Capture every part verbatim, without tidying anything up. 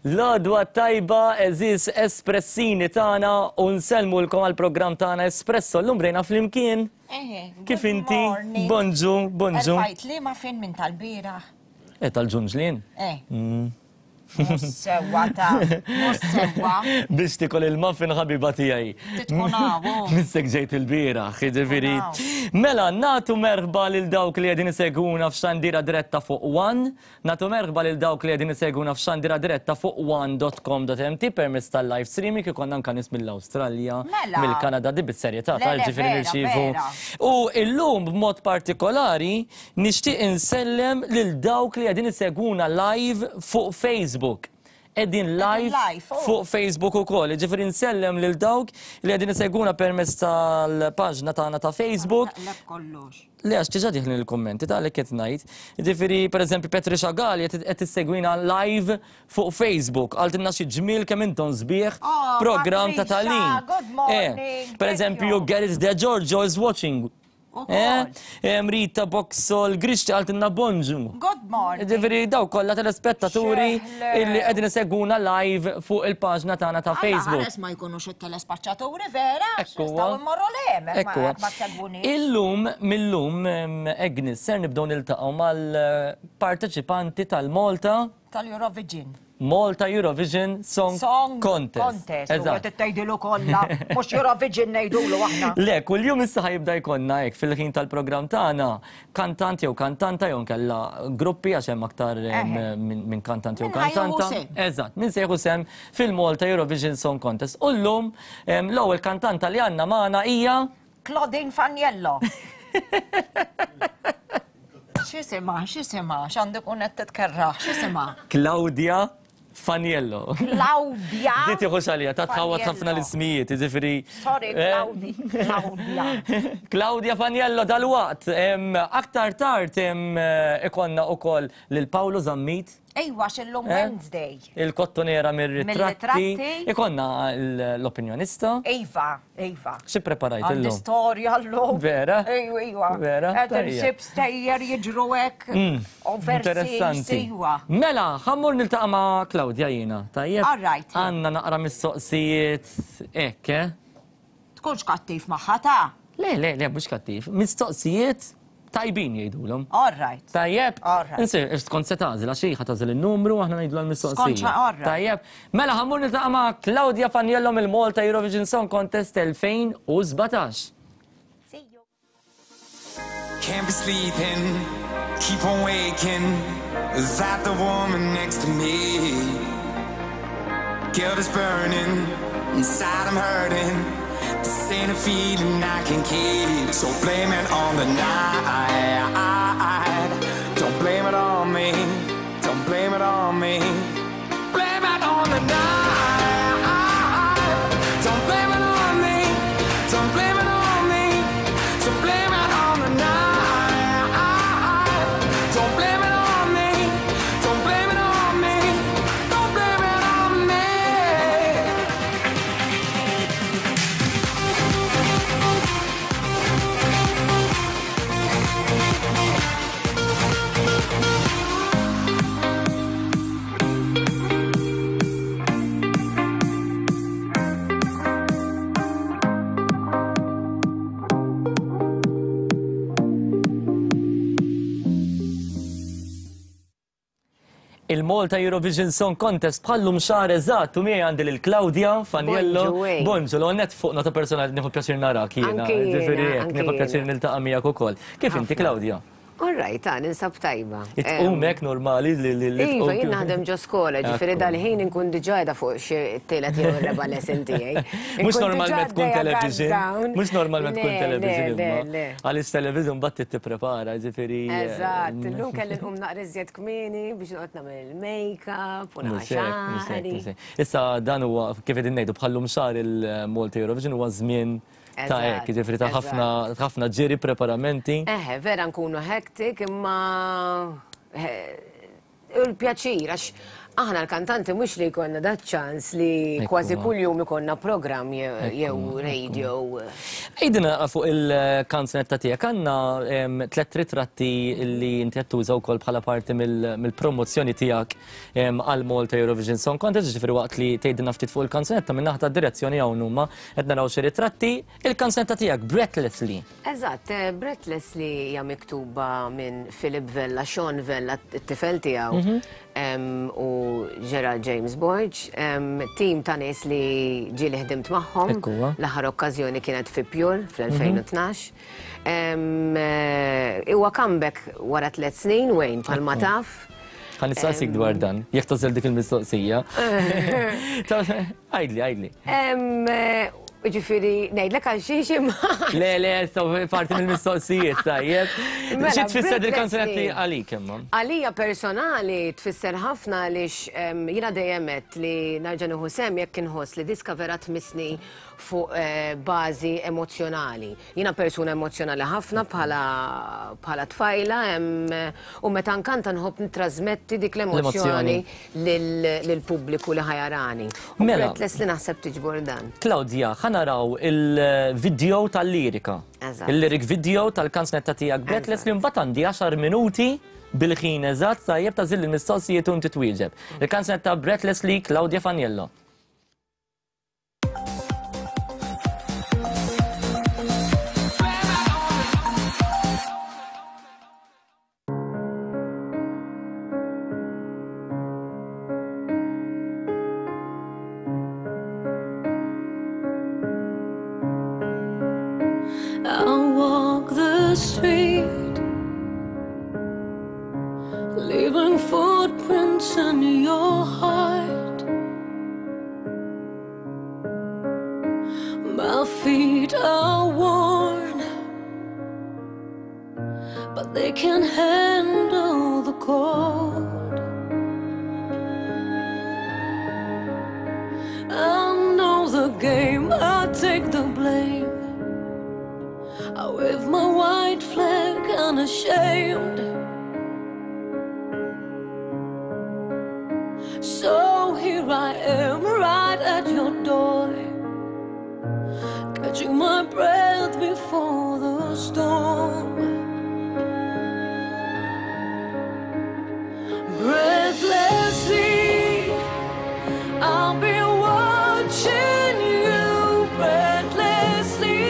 L-għodwa t-tajba, għeżież espressini tagħna, u nsellmulkom għall-programm tagħna Espresso. Llum bdejna flimkien. Eħe, Kif good inti? morning. Bonġu, bonġu. Erfajt li ma fin minn tal-bieraħ. E tal-ġunġlien. Eh. Mhux sewwa ta' mhux sewwa. Biex tikol il-muffin ħabiba tiegħi. Titkun hawn, oh. Missek ġejt il-bieraħ, jiġifieri. Hawn. Mela, nagħtu merħba lil dawk li qegħdin isegwuna f'xandira diretta fuq One, nagħtu merħba lil dawk li qegħdin isegwuna f'xandira diretta fuq one dot com dot M T permezz tal-live streaming, ikollna anka nies mill-Awstralja, Mela. mill-Kanada, di bis-serjetà Le, le, tal-ġifieri vera, nirċievu. vera. U illum b'mod partikolari nixtieq insellem lil dawk li qegħdin isegwuna live fuq Facebook. Qegħdin live live, oh. fuq Facebook ukoll. Ġifieri nsellem lil dawk li qegħdin isegwuna permezz tal-paġna tagħna ta' Facebook. Naqleb kollox. Le, għax diġà diħlin il-kommenti ta' li qed ngħid. Ġifieri, pereżempju, Patricia Gali qed tissegwina live fuq Facebook. Qaltilna xi ġmiel kemm intom sbieħ Oh, programm ta' Patricia, tagħlim. Good morning, Per thank eżempju, you. Gareth De Giorgio is watching. Ukoll. Eh, Rita Boxol Grixti qaltilna bonġu. Good morning. Ġifieri daw kollha telespettaturi Xeħle. illi qegħdin isegwuna live fuq il-paġna tagħna ta' Facebook. Għares ma jkunux it-telespaċċaturi vera. Ekku Nistgħu immorru lem. Ekku. Ma segwuni. Illum, millum, em, Agnes, ser nibdew niltaqgħu mal-parteċipanti tal-Malta Tal-Eurovision. Malta Eurovision Song, Song Contest. Contest. U Eżatt. qed tgħidilu kollha. Mhux Eurovision ngħidulu aħna. Le, kull-jum issa ħa jibda jkollna hekk fil-ħin tal-programm tagħna kantant jew kantanta jew nkella gruppi, għax hemm aktar em, Eħe. minn min kantant jew Min ħa jieħu kantanta. sehem. Eżatt, min se jieħu sehem fil-Malta Eurovision Song Contest. U llum em, l-ewwel kantanta li għandna magħna hija Claudine Faniello. X'isima, x'isima, x'għandek un qed titkerraħ, x'isima? Claudia Faniello. Claudia. Di tieħu xalija, ta' tħawat ħafna Faniello. l-ismijiet, ġifieri. Sorry, eh, Claudi. Claudia. Claudia Faniello dal-waqt. Em, Aktar tard em, ikollna ukoll lil Paolo Zammit. Ejwa, x'illum Eh? Wednesday. Il-kottonera mir-ritratti. Mir-ritratti. Ikollna l-opinjonista. Iva, Iva. Xi preparajt Għandi illum? storja llum. Vera? Ejwa, ejwa. Vera? Qed Tajjeb. insib stejjer jiġru hekk. Overseas, Interessanti. Ejwa. Mela, ħa mmur niltaqa' ma' Claudia jiena, tajjeb? All right. Għandna naqra mistoqsijiet hekk, eh? Tkunx kattiv magħha ta' Le, le, le, mhux kattiv. Mistoqsijiet tajbin jgħidulhom. All right. Tajjeb, All right. Insir, skont se tagħżel, għax hi tagħżel il-numru, aħna ngħidu l-mistoqsija. Skont xa- all right. Tajjeb, mela ħa mmur niltaqa' ma' Claudia Faniello mill-Malta Eurovision Song Contest elfejn u sbatax. See you. Can't be sleeping, keep on waking. Is that the woman next to me? Guilt is burning, inside I'm hurting. This ain't a feeling I can keep. So blame it on the night. Don't blame it on me. Don't blame it on me. Blame it on the night. Don't blame it on me. Don't blame it on me. So blame it on the night. Don't blame it on me. Don't blame it on me. Don't blame it on me. Il-Malta Eurovision Song Contest bħallum xahar eżatt u miegħi għandi lil Claudia Faniello. Bonġu, ej. Bonġu, l-għonet fuq nota personali nieħu pjaċir narak jiena. Anki jiena, Ġifieri hekk, anki nieħu pjaċir jiena. niltaqa' miegħek ukoll. Kif inti, Ħafna. Claudia? All right, ta' ninsab tajba. Itqum hekk normali li li li Iva, tqum jien kif- naħdem ġo skola, ġifieri Ekku. dal-ħin inkun diġà qiegħda fuq xi tielet jew ir-reba' lesson tiegħi. Mhux Inkun normalment diġà tkun għaddejja television. countdown. Mhux normalment tkun Le, television Le, imma. le, le. Għaliex television mbagħad tipprepara, ġifieri. eh, Eżatt, illum kelli nqum naqra iżjed kmieni biex noqgħod nagħmel il-make-up u Mhux hekk, mhux hekk, naqra mhux hekk. Issa dan huwa kif qegħdin ngħidu bħallum xahar il-Malta Eurovision huwa żmien ta' Eżatt, hekk, ġifieri ta' ħafna ħafna ġiri preparamenti. Eħe, vera nkunu hectic imma eh, il-pjaċir, għax Aħna l-kantanti mhux li jkollna dat ċans li kważi kuljum ikollna programm jew radio. Għidilna fuq il-kanzunetta tiegħek, għandna tliet ritratti li inti qed tuża wkoll bħala parti mill-promozzjoni tiegħek għal Malta Eurovision Song Contest, ġifieri waqt li tgħidilna ftit fuq il-kanzunetta minn naħa tad-direzzjoni hawn huma qed naraw xi ritratti, il-kanzunetta tiegħek Breathlessly. Eżatt, Breathlessly hija miktuba minn Philip Vella, Sean Vella, t-tifel tiegħu, u Gerald James Borg, tim ta' nies li ġieli ħdimt magħhom. L-aħħar okkażjoni kienet fi Pure fl-elfejn u tnax. Huwa comeback wara tliet snin, Wayne, bħalma taf. Ħa nistaqsik dwar dan, jekk tażel dik il-mistoqsija. Għidli, għidli. Ġifieri, ngħidlek għal xiex imma. Le, le, parti mill-mistoqsijiet, tajjeb. Xi tfisser il-kanzunetti għalik imma? Għalija personali tfisser ħafna għaliex jiena dejjem għedt li nerġa' nieħu sehem jekk inħoss li diska vera tmissni fuq bażi emozjonali. Jiena persuna emozjonali ħafna bħala tfajla u meta nkanta nħobb nittrażmetti dik l-emozzjoni lill-pubbliku li ħajarani. U Breathlessly naħseb tiġbor dan. Claudia, ħa naraw il-video tal-lirika. Il-lyric video tal-kanzunetta tiegħek Breathlessly, mbagħad għandi għaxar minuti bil-ħin eżatt tajjeb tażil il-mistoqsijiet u inti twieġeb. Il-kanzunetta Breathlessly, Claudia Faniello. I walk the street, leaving footprints in your heart. My feet are worn, but they can handle the cold. I know the game, I take the blame. I wave my white flag unashamed. So here I am, right at your door, catching my breath before the storm. Breathlessly, I'll be watching you breathlessly,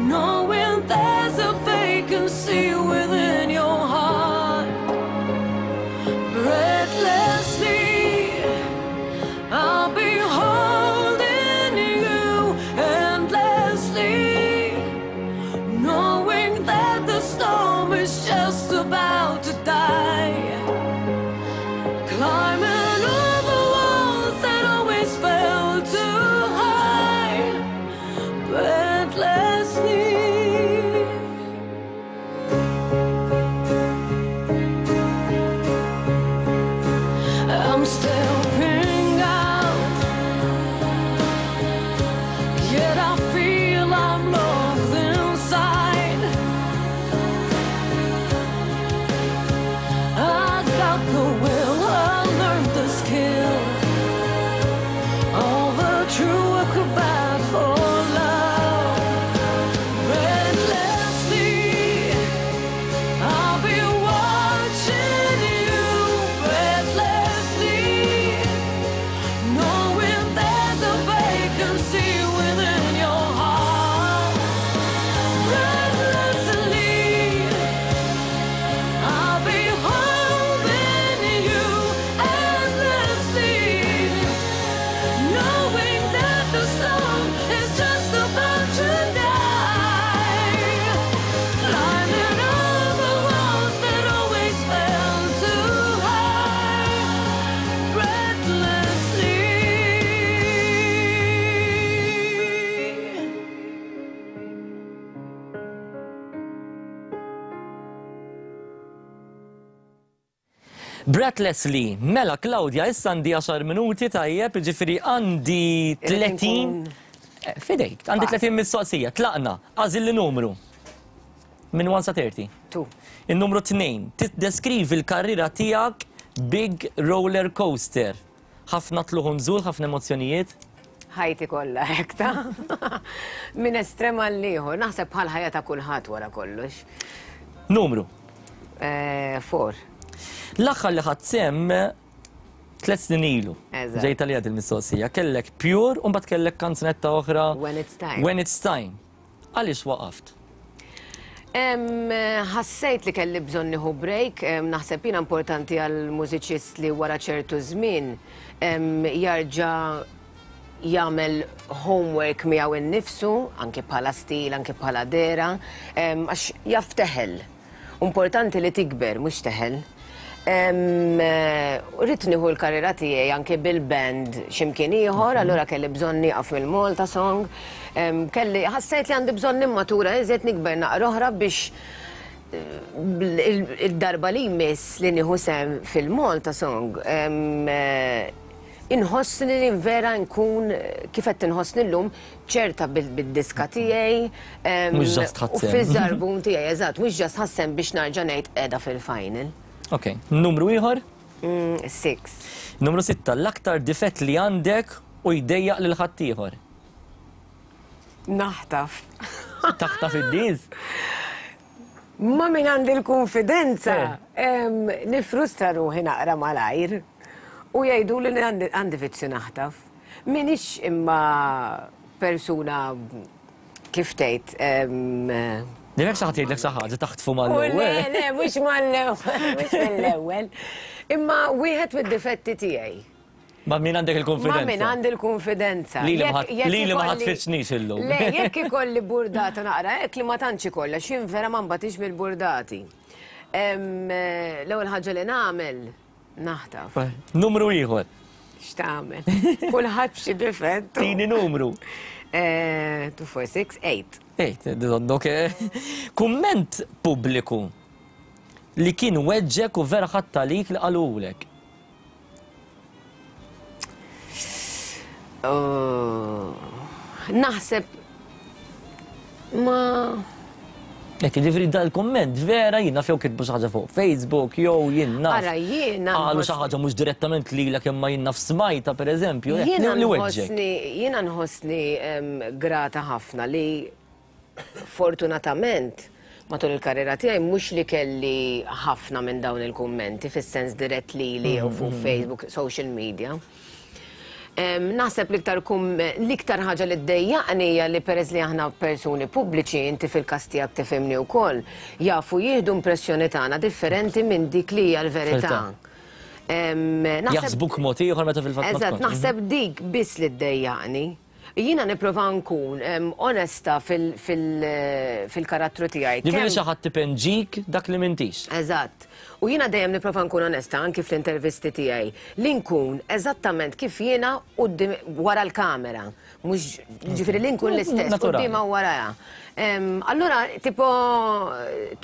knowing there's a vacancy within your heart. Breathlessly, I'll be holding you endlessly, knowing that the storm is just about to die. Climbing over walls that always fell too high, breathlessly. I'm stepping out, yet I feel I'm locked inside. I got the will, I learned the skill of a true acrobat for love. Breathlessly, I'll be watching you breathlessly, knowing there's a vacancy within your heart. Breathlessly, I'll be holding you endlessly, knowing that the storm is just about to die. Climbing over walls that always fell too high, breathlessly. Breathlessly, mela Claudia, issa għandi għaxar minuti tajjeb, ġifieri għandi tletin. Fidejk, għandi tletin mistoqsija, tlaqna, għażil li numru. Minn one sa thirty. Two. Il-numru tnejn, tiddeskrivi l-karriera tiegħek Big roller coaster. Ħafna tlugħ u nżul, ħafna emozzjonijiet. Ħajti kollha hekk ta' minn estrem għal ieħor, naħseb bħal ħajja ta' kulħadd wara kollox. Numru. Eh, Four. L-aħħar li ħadt sehem tliet snin ilu. Eżatt. Ġejta li għad il-mistoqsija. Kellek Pure u mbagħad kellek kanzunetta oħra. When It's Time. When It's Time. Għaliex waqaft? Em, Ħassejt li kelli bżonn nieħu break, em, naħseb jiena importanti għal mużiċist li wara ċertu żmien em, jarġa' jagħmel homework miegħu innifsu, anke bħala stil, anke bħala dehra, em, għax jaf teħel. Importanti li tikber, mhux teħel. Em, eh, Ridt nieħu l-karriera tiegħi anke bil-band x'imkien ieħor, allura kelli bżonn nieqaf mill-Malta Song. Em, Kelli ħassejt li għandi bżonn nimmatura iżjed nikber naqra oħra biex il- il-darba li jmiss li nieħu sehem fil-Malta Song em, eh, inħossni li vera nkun eh, kif qed inħossni llum ċerta bil- bid-diska tiegħi em, Mhux just u ħadt sehem. fiż-żarbun tiegħi, eżatt, mhux just ħadt sehem biex narġa' ngħid qiegħda fil-final. Ok. Numru ieħor? Mm, Six. Numru sitta, l-aktar difett li għandek u jdejjaq lil ħaddieħor. Naħtaf. Taħtaf id-diż? Ma min għandi l-konfidenza, em, nifrustra ruħi naqra malajr u jgħidu li għandi għandi vizzju naħtaf. Minix imma persuna kif tgħid em, Direk xi ħadd jgħidlek xi ħaġa taħtfu U le, mal-ewwel. le, mhux mal-ewwel, mhux mill-ewwel. Imma wieħed mid-difetti tiegħi. Ma min għandek Ma il-konfidenza. min għandi l-konfidenza. Li li ma Jekk- ħadd- jekk li li ma ikolli- ħatfitxnix illum. Le, jekk ikolli burdata naqra, hekk li ma tantx ikollha, xin vera ma nbatix mill-burdati. Em, eh, L-ewwel ħaġa li nagħmel, naħtaf. Numru ieħor. X'tagħmel? Kulħadd b'xi difett. Tini numru. Eh, Two, four, six, eight. Ejt, dondok. Kumment pubbliku li kien weġġek u vera ħadd għalik li qalulek. Oh, Naħseb ma Jekk ġifieri dal-kumment vera jien naf jew kitbu xi ħaġa fuq Facebook jew jien naf. Ara, jiena Qalu nħoss- xi ħaġa mhux direttament lilek imma jien naf smajta pereżempju. hekk, Jiena Li weġġek. nħossni, jiena nħossni em, grata ħafna li fortunatament matul il-karriera tiegħi mhux li kelli ħafna minn dawn il-kummenti fis-sens dirett lili jew fuq Facebook, social media. Em, Naħseb l-iktar kum- l-iktar ħaġa li ddejjaqni hija li peress li aħna persuni pubbliċi, inti fil-każ tiegħek tifhimni wkoll, jafu jieħdu impressjoni tagħna differenti minn dik li hija l-verità. Verità. Em, naħseb- Jaħsbuk mod ieħor meta fil-fatt ma Eżatt, tkunx. naħseb dik biss li ddejjaqni. Jiena nipprova nkun em, onesta fil- fil- fil-karattru tiegħi. Ġifieri Kemm- xi ħadd tipenġik dak li m'intix. Eżatt. U jiena dejjem nipprova nkun onesta anki fl-intervisti tiegħi li nkun eżattament kif jiena quddiem wara l-kamera. Mhux ġifieri li nkun l-istess Naturali. quddiemha u warajha. Em, Allura tipo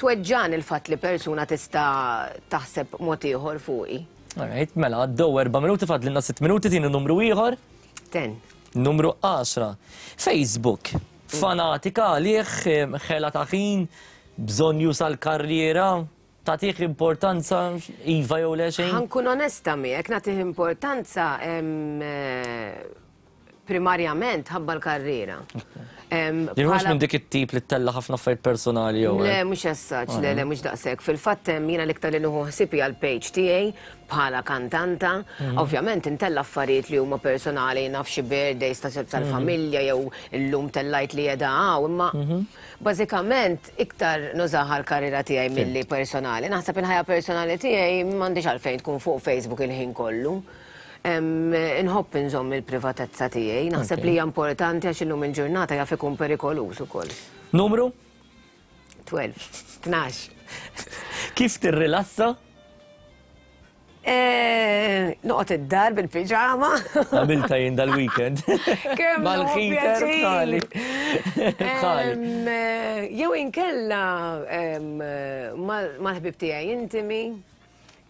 tweġġan il-fatt li persuna tista' taħseb mod ieħor fuqi. Alright, mela għaddew erba' minuti fadlilna sitt minuti tini numru ieħor. Ten. Numru għaxra. Facebook. Fanatika għalih, em, ħela ta' ħin, bżonn jusa l-karriera, tagħtih importanza, iva jew le xejn. Ħa nkun onesta miegħek nagħtih importanza em, eh, primarjament ħabba l-karriera. Em, Ġifieri mhux bħala- minn dik it-tip li ttella' ħafna affarijiet personali jew. Le, hekk. mhux essaċ, le, le, mhux daqshekk. Fil-fatt hemm jiena l-iktar li nieħu ħsieb hija l-page tiegħi bħala kantanta. Ovvjament intella affarijiet li huma personali, naf xi birthdays ta' tal-familja jew illum tellajt li qiegħda hawn, imma bażikament iktar nużaha l-karriera tiegħi milli personali. Naħseb il-ħajja personali tiegħi m'għandix għalfejn tkun fuq Facebook il-ħin kollu. Em, Inħobb inżomm il-privatezza tiegħi, naħseb Ok. li hija importanti għax illum il-ġurnata jaf ikun perikoluż ukoll. Numru? tnax, tnax. Kif tirrilassa? Eh, Noqgħod id-dar bil-piġama. Għamilta jien dal-weekend. Kemm Mal-heater nieħu bħali. Bħali. Em, eh, Jew inkella em, eh, mal- mal-ħbib tiegħi intimi,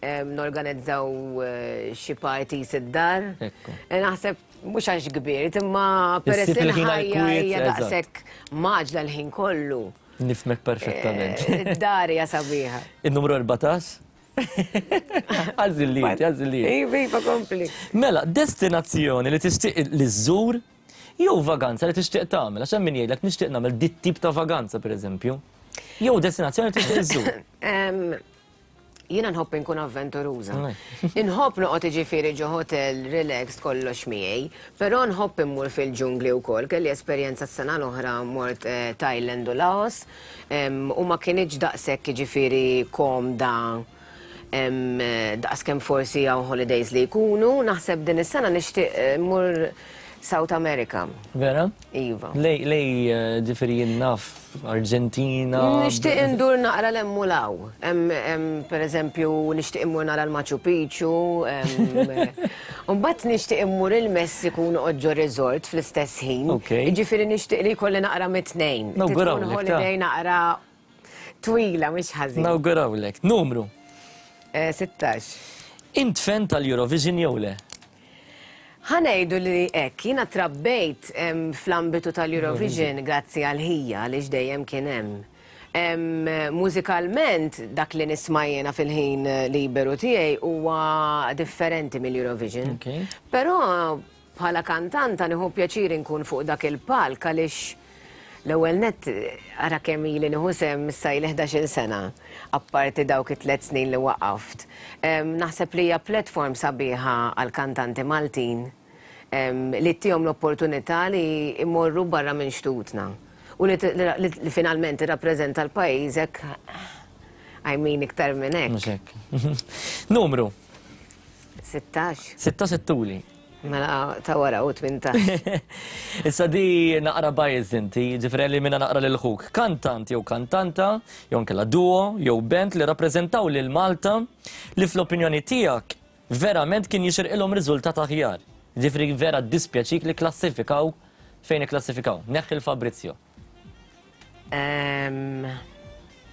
em, norganizzaw eh, xi parties id-dar. Ekku. Eh, Naħseb mhux għax kbirt, imma peress Issib li il-ħin l-ħajja għall-kwiet, hija eżatt. daqshekk mgħaġġla l-ħin kollu. Nifhmek perfettament. Eh, Id-dar hija sabiħa. Il-numru erbatax? Għażilliet, għażilliet. Iva, iva, kompli. Mela, destinazzjoni li tixtieq li żżur jew vaganza li tixtieq tagħmel, għax hemm min jgħidlek nixtieq nagħmel dit tip ta' vaganza, pereżempju. Jew destinazzjoni li tixtieq iżżur. Em, Jiena nħobb inkun avventuruża. Right. Inħobb noqgħod, ġifieri, ġo hotel relaxed, kollox miegħi, però nħobb immur fil-ġungli wkoll. Kelli esperjenza s-sena l-oħra, mort eh, Thailand u Laos em, u ma kinitx daqshekk, ġifieri, komda em, eh, daqs kemm forsi hawn holidays li jkunu. Naħseb din is-sena nixtieq eh, mmur South America. Vera? Iva. Lej, lej, eh, ġifieri naf, Argentina. Nixtieq indur naqra l-hemm u 'l hawn. Hemm, per eżempju, nixtieq immur nara l-Machu Picchu. Mbagħad nixtieq immur il-Messiku, noqgħod ġo resort fl-istess ħin. Ok. Jiġifieri nixtieq li jkolli naqra mit-tnejn. Nawgurawlek, Tkun ta. holiday naqra twila, mhux ħażin. Nawgurawlek. Numru. Eh, sittax. Int fan tal-Eurovision jew le? Ħa ngħidu li hekk, jiena trabbejt em, fl-ambitu tal-Eurovision grazzi għal ħija li dejjem kien hemm. Em, Mużikalment dak li nisma' jiena fil-ħin liberu tiegħi huwa differenti mill-Eurovision. Ok. Però bħala kantanta nieħu pjaċir inkun fuq dak il-palk, għaliex l-ewwel net ara kemm ili nieħu sehem issa, ili ħdax-il sena, apparti dawk it-tliet snin li waqaft. Em, Naħseb li hija platform sabiħa għal kantanti Maltin em, li ttihom l-opportunità li imorru barra minn xtutna. U li, li, li finalment tirrappreżenta l-pajjiżek, I mean, iktar minn hekk. Mhux hekk. Numru. Sittax. Sitta settuli. Mela ta' wara u tmintax. Issa di naqra bias inti, ġifieri li minna naqra lil ħuk. Kantant jew kantanta, jew nkella duo, jew band li rappreżentaw lil Malta li fl-opinjoni tiegħek verament kien jixirqilhom riżultat aħjar. Ġifieri vera dispjaċik li klassifikaw fejn ikklassifikaw. Neħħi l-Fabrizio. Em,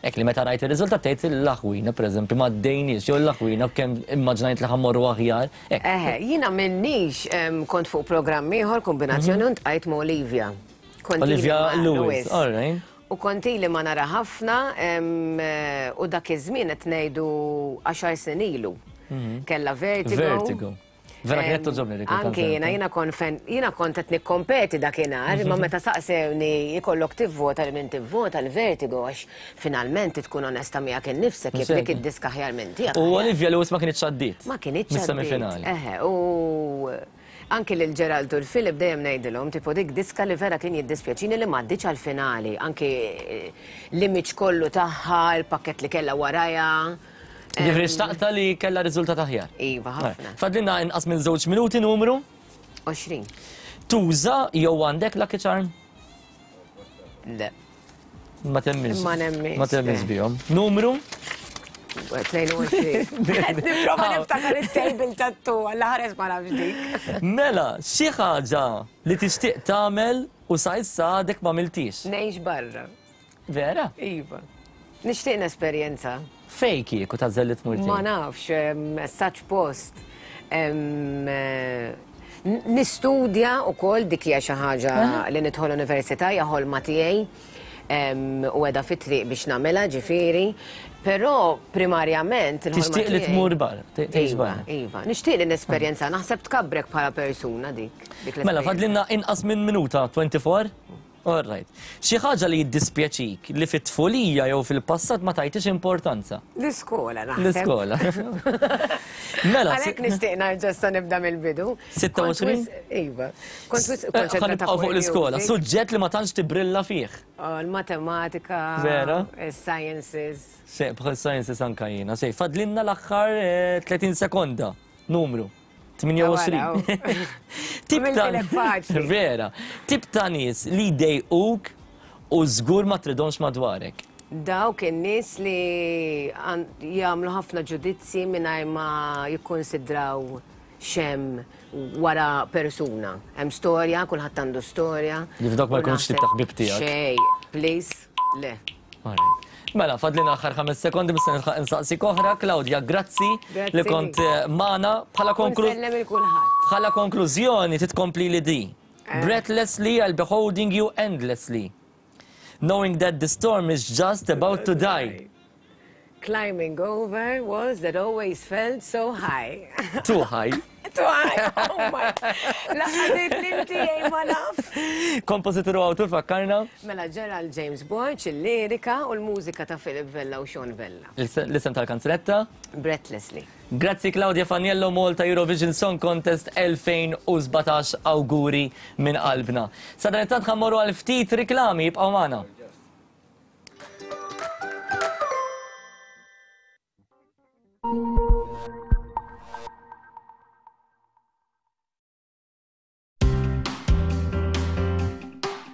Ek li meta rajt il-riżultat tgħid l-aħwina, pereżempju, ma ddejniex, jew l-aħwina kemm immaġnajt li ħa mmorru aħjar. Ek. Eħe, jiena minnix em, kont fuq programm ieħor kombinazzjoni u ltqajt ma' Olivia. Kont ili Olivia ma' Lewis, all right. U kont ili ma nara ħafna em, eh, u dak iż-żmien, qed ngħidu għaxar snin ilu. Kella Vertigo. Vertigo. Vera kienet Em, togħġobni dik Anki il-kanzunetta. jiena, jiena kont fan, jiena kont qed nikkompeti dakinhar, imma meta saqsewni jkollok tivvota, li min tivvota, l-Vertigo, għax finalment tkun onesta miegħek innifsek jekk dik id-diska aħjar minn tiegħek. U Olivia Lewis ma kienx għaddiet. Ma kienx. Mis-semifinali. Eħe, u anki lil Gerald u l-Filip dejjem ngħidilhom, tipo, dik diska li vera kien jiddispjaċini li m'għaddietx għal-finali. Anki eh, l-image kollu tagħha, il-pakket li kellha warajha. Ġifieri xtaqta li kellha riżultat aħjar. Iva, ħafna. Fadlilna inqas minn żewġ minuti. Numru? għoxrin. Tuża jew għandek lucky charm? Le. Ma temminx. Ma nemminx, Ma temminx le. bihom. Numru? tnejn u għoxrin. Nipprova niftakar it-table tat-tu, għalla ħares ma nafx dik. Mela, xi ħaġa li tixtieq tagħmel u sa issa għadek ma għamiltix? Ngħix barra. Vera? Iva. Nixtieq nesperjenza. Fej kieku tagħżel li tmur? Ma nafx, em, saċ post. Em, eh, n- Nistudja u koll, dik hija xi ħaġa li nidħol università hija ħolma tiegħi em, u qiegħda fit-triq biex nagħmilha, ġifieri, però primarjament il-ħolma Tixtieq li tiegħi- tmur barra, tgħix Iva, barra. Iva, nixtieq li nesperjenza, naħseb tkabrek bħala persuna dik. Dik Mela, l-esperjenza. fadlilna inqas minn minuta, twenty-four? All right. Xi ħaġa li jiddispjaċik li fit-tfulija jew fil-passat ma tajtix importanza? L-iskola, naħseb. L-iskola. Mela, Għalhekk nixtieq nerġa' issa nibda mill-bidu. sitta u għoxrin? Kont wis- Iva. Kont wis Eh, ħa konċentrata nibqgħu fuq l-iskola. il-music. Suġġett li ma tantx tibrilla fih. Oh, il-matematika. Vera? Il-sciences. Se, bħal sciences anka jiena. Se, fadlilna l-aħħar eh, tletin sekonda. Numru. tmienja u għoxrin. Tip ta' Għamiltilek faċli. Vera. Tip ta' nies li jdejquk u żgur ma tridhomx madwarek. Dawk in-nies li għan- jagħmlu ħafna ġudizzji mingħajr ma jikkonsidraw x'hemm wara persuna. Hemm storja, kulħadd għandu storja. Li f'dawk ma U jkunx tip ta' ħbib tiegħek. Xej, please, le. Alright. Mela, fadlina aħħar ħames sekondi, mista nilħaq insaqsik oħra. Claudia, grazzi Grazzi li kont eh, magħna. Bħala konklu Nsellem lil kulħadd. Bħala konklużjoni titkompli li di. Eh. Breathlessly I'll be holding you endlessly, knowing that the storm is just about to die. Climbing over walls that always felt so high. Too high. Too high, oh my. Laqgħet inti ma naf. Kompożitur u awtur fakkarna? Mela Gerald James Borg, il-lirika u l-mużika ta' Philip Vella u Sean Vella. L-isem tal-kanzunetta? Breathlessly. Grazzi Claudia Faniello, Malta Eurovision Song Contest elfejn u sbatax, auguri minn qalbna. Sadanittant ħa mmorru għal ftit riklami, jibqgħu magħna.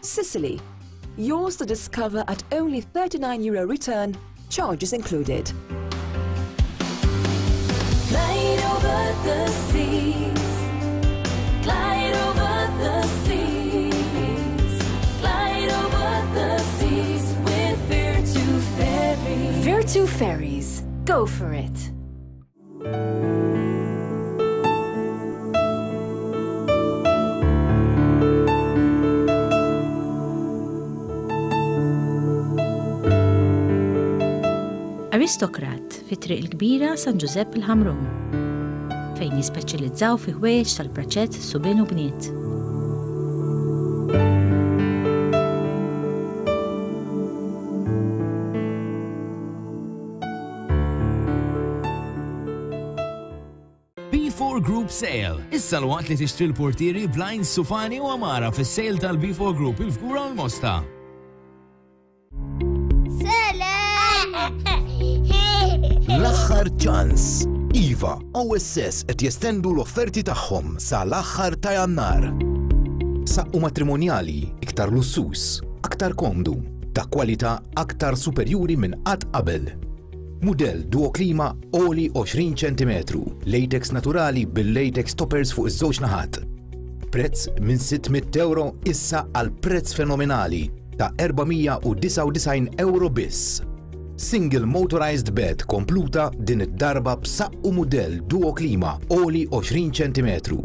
Sicily, yours to discover at only thirty-nine euro return, charges included. Glide over the seas, glide over the seas, glide over the seas with Virtu Ferries. Virtu Ferries, go for it. Aristokrat fi Triq il-Kbira San Giuseppe il-Ħamrun, fejn jispeċjalizzaw fi ħwejjeġ tal-praċett subien u bniet. B four Group Sale. Issa l-waqt li tixtri l-portieri blind Sufani u Amara fis-sale tal-B four Group il-Fgura u l-Mosta. L-aħħar ċans. Iva, O S S qed jestendu l-offerti tagħhom sa l-aħħar ta' Jannar. Saqqu matrimonjali iktar lussus, aktar komdu, ta' kwalità aktar superjuri minn qatt qabel. Mudell Duo Klima oli għoxrin ċentimetru, latex naturali bil-latex toppers fuq iż-żewġ naħat. Prezz minn sitt mitt euro issa għal prezz fenomenali ta' erba' mija u disgħa u disgħin euro biss. Single motorized bed kompluta din id-darba b'saqqu mudell Duo Klima oli għoxrin ċentimetru.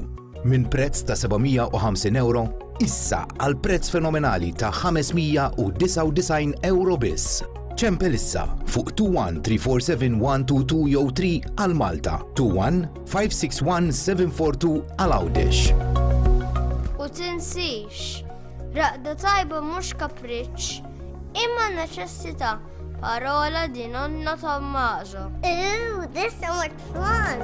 Minn prezz ta' seba' mija u ħamsin euro issa għal prezz fenomenali ta' ħames mija u disgħa u disgħin euro biss. Ċempel issa fuq two one three four seven one two two jew three għal Malta, two one five six one seven four two għal Għawdex. U tinsix, raqda tajba mhux kapriċċ, imma neċessità. Parola di nonno Tommaso. Ooh, this is so much fun!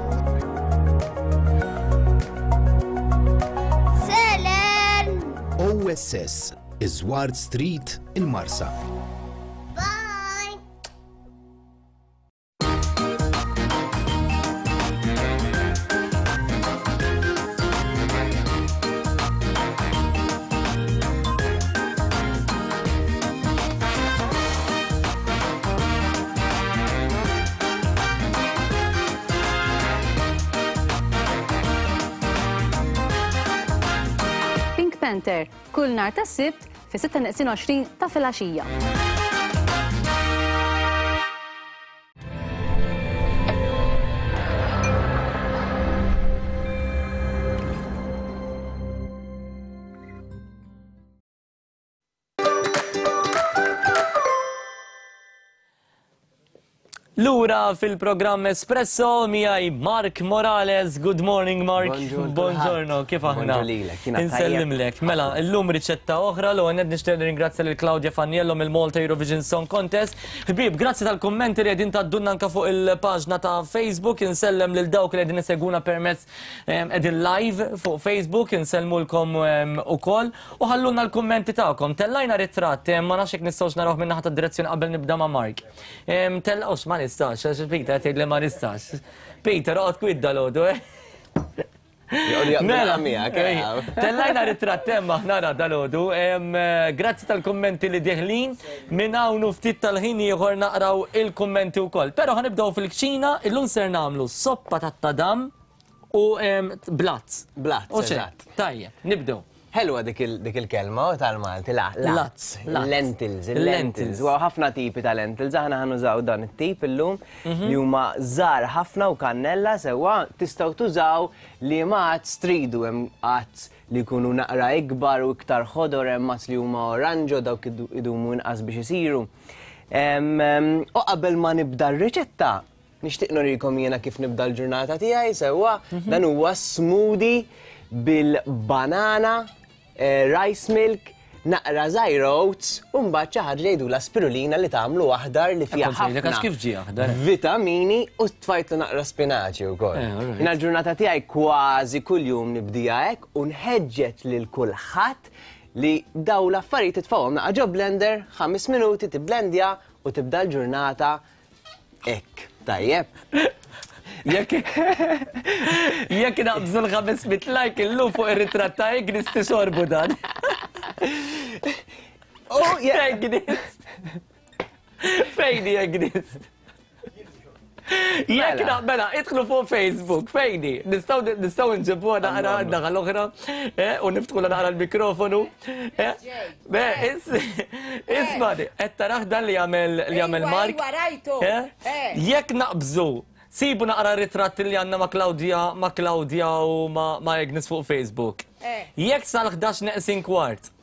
Selen! O S S, Iżward Street, il-Marsa. Bye! Panther, kull nhar ta' Sibt fi sitta neqsin għoxrin ta' filgħaxija. Lura fil-programm Espresso miegħi Mark Morales. Good morning, Mark. Buongiorno, kif aħna? Insellimlek. Mela, illum riċetta oħra l għonet nixtieq nirringrazzja lil Claudia Faniello mill-Malta Eurovision Song Contest. Ħbieb, grazzi tal-kummenti li qegħdin taddunna anke fuq il-paġna ta' Facebook. Insellem lil dawk li qegħdin isegwuna permezz qegħdin live fuq Facebook, insellmulkom ukoll u ħallulna l-kummenti tagħkom. Tellajna ritratt, ma nafx jekk nistgħux narawh minn naħa tad-direzzjoni qabel nibda ma' Mark. Tellgħux ma nistax, għax Peter tgħid li ma nistax. Peter, oqgħod kwid dalodu, eh? Mela, tellajna ritratt hemm aħna nara dalodu. Grazzi tal-kummenti li deħlin, minn hawn u ftit tal-ħin ieħor naqraw il-kummenti wkoll. Però ħanibdew fil-kċina, illum ser nagħmlu soppa tat-tadam u blazz. Blazz, eżatt. Tajjeb, nibdew. Ħelwa dik il-kelma u tal-Malti, lazz, lentils, lentils. U ħafna tipi ta' lentils, aħna ħanużaw dan it-tip illum li huma żgħar ħafna u kannella sewwa tistgħu tużaw li ma għadz tridu, hemm għadz li jkunu naqra ikbar u iktar ħodor, hemm għadz li huma oranġo dawk idumu inqas biex isiru. U qabel ma nibda r-riċetta, nixtieq nurikom jiena kif nibda l-ġurnata tiegħi sewwa, dan huwa smoothie bil-banana, rice milk, naqra żgħir oats, u mbagħad xi ħaġa jgħidulha spirulina li tagħmlu aħdar li fiha ħafna vitamini u tfajtlu naqra spinaċi wkoll. Jiena l-ġurnata tiegħi kważi kuljum nibdija hekk u nħeġġeġ lil kulħadd li daw l-affarijiet titfgħuhom naqra ġo blender, ħames minuti tibblendja u tibda l-ġurnata hekk. Tajjeb. Jekk jekk naqbżu l-ħames mitt like illum fuq ir-ritratt ta' Agnes tixorbu dan. Oh, Agnes! Fejni Agnes? Jekk mela, idħlu fuq Facebook, fejni, nistgħu nġibuha naqra naħa l-oħra u niftħu naqra l-mikrofonu. Isma' qed taraħ dan li jagħmel li jagħmel Mark. Jekk naqbżu, sibu naqra ritratt li għandna ma' Claudia, ma' Claudia u ma' Agnes fuq Facebook. Jekk sal-ħdax neqsin kwart,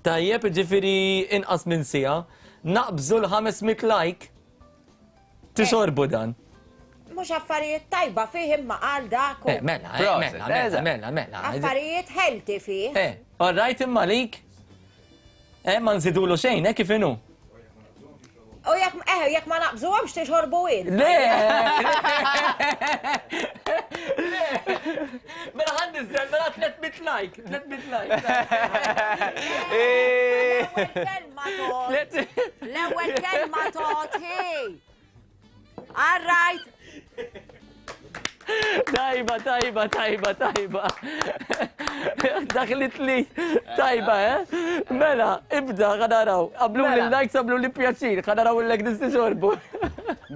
tajjeb ġifieri inqas minn siegħa, naqbżu l-ħames mitt like, tixorbu dan. Mhux affarijiet tajba fih imma għal dak. Mela, mela, mela, mela, mela. Affarijiet healthy fih. Eh, all right imma lik. Eh, ma nżidulu xejn, eh, kif inhu? U jekk eh, jekk ma naqbżuhomx tixorbu int. Le! Mela ħa nniżżel, mela tliet mitt like, tliet mitt like. L-ewwel kelma tot. L-ewwel kelma tot, hey. All right. Tajba, tajba, tajba, tajba. Daħlit li, tajba, eh? Mela, ibda, ħanaraw. Għamlu li likes, għamlu li pjaċir, ħanaraw l-Agnes tixorbu.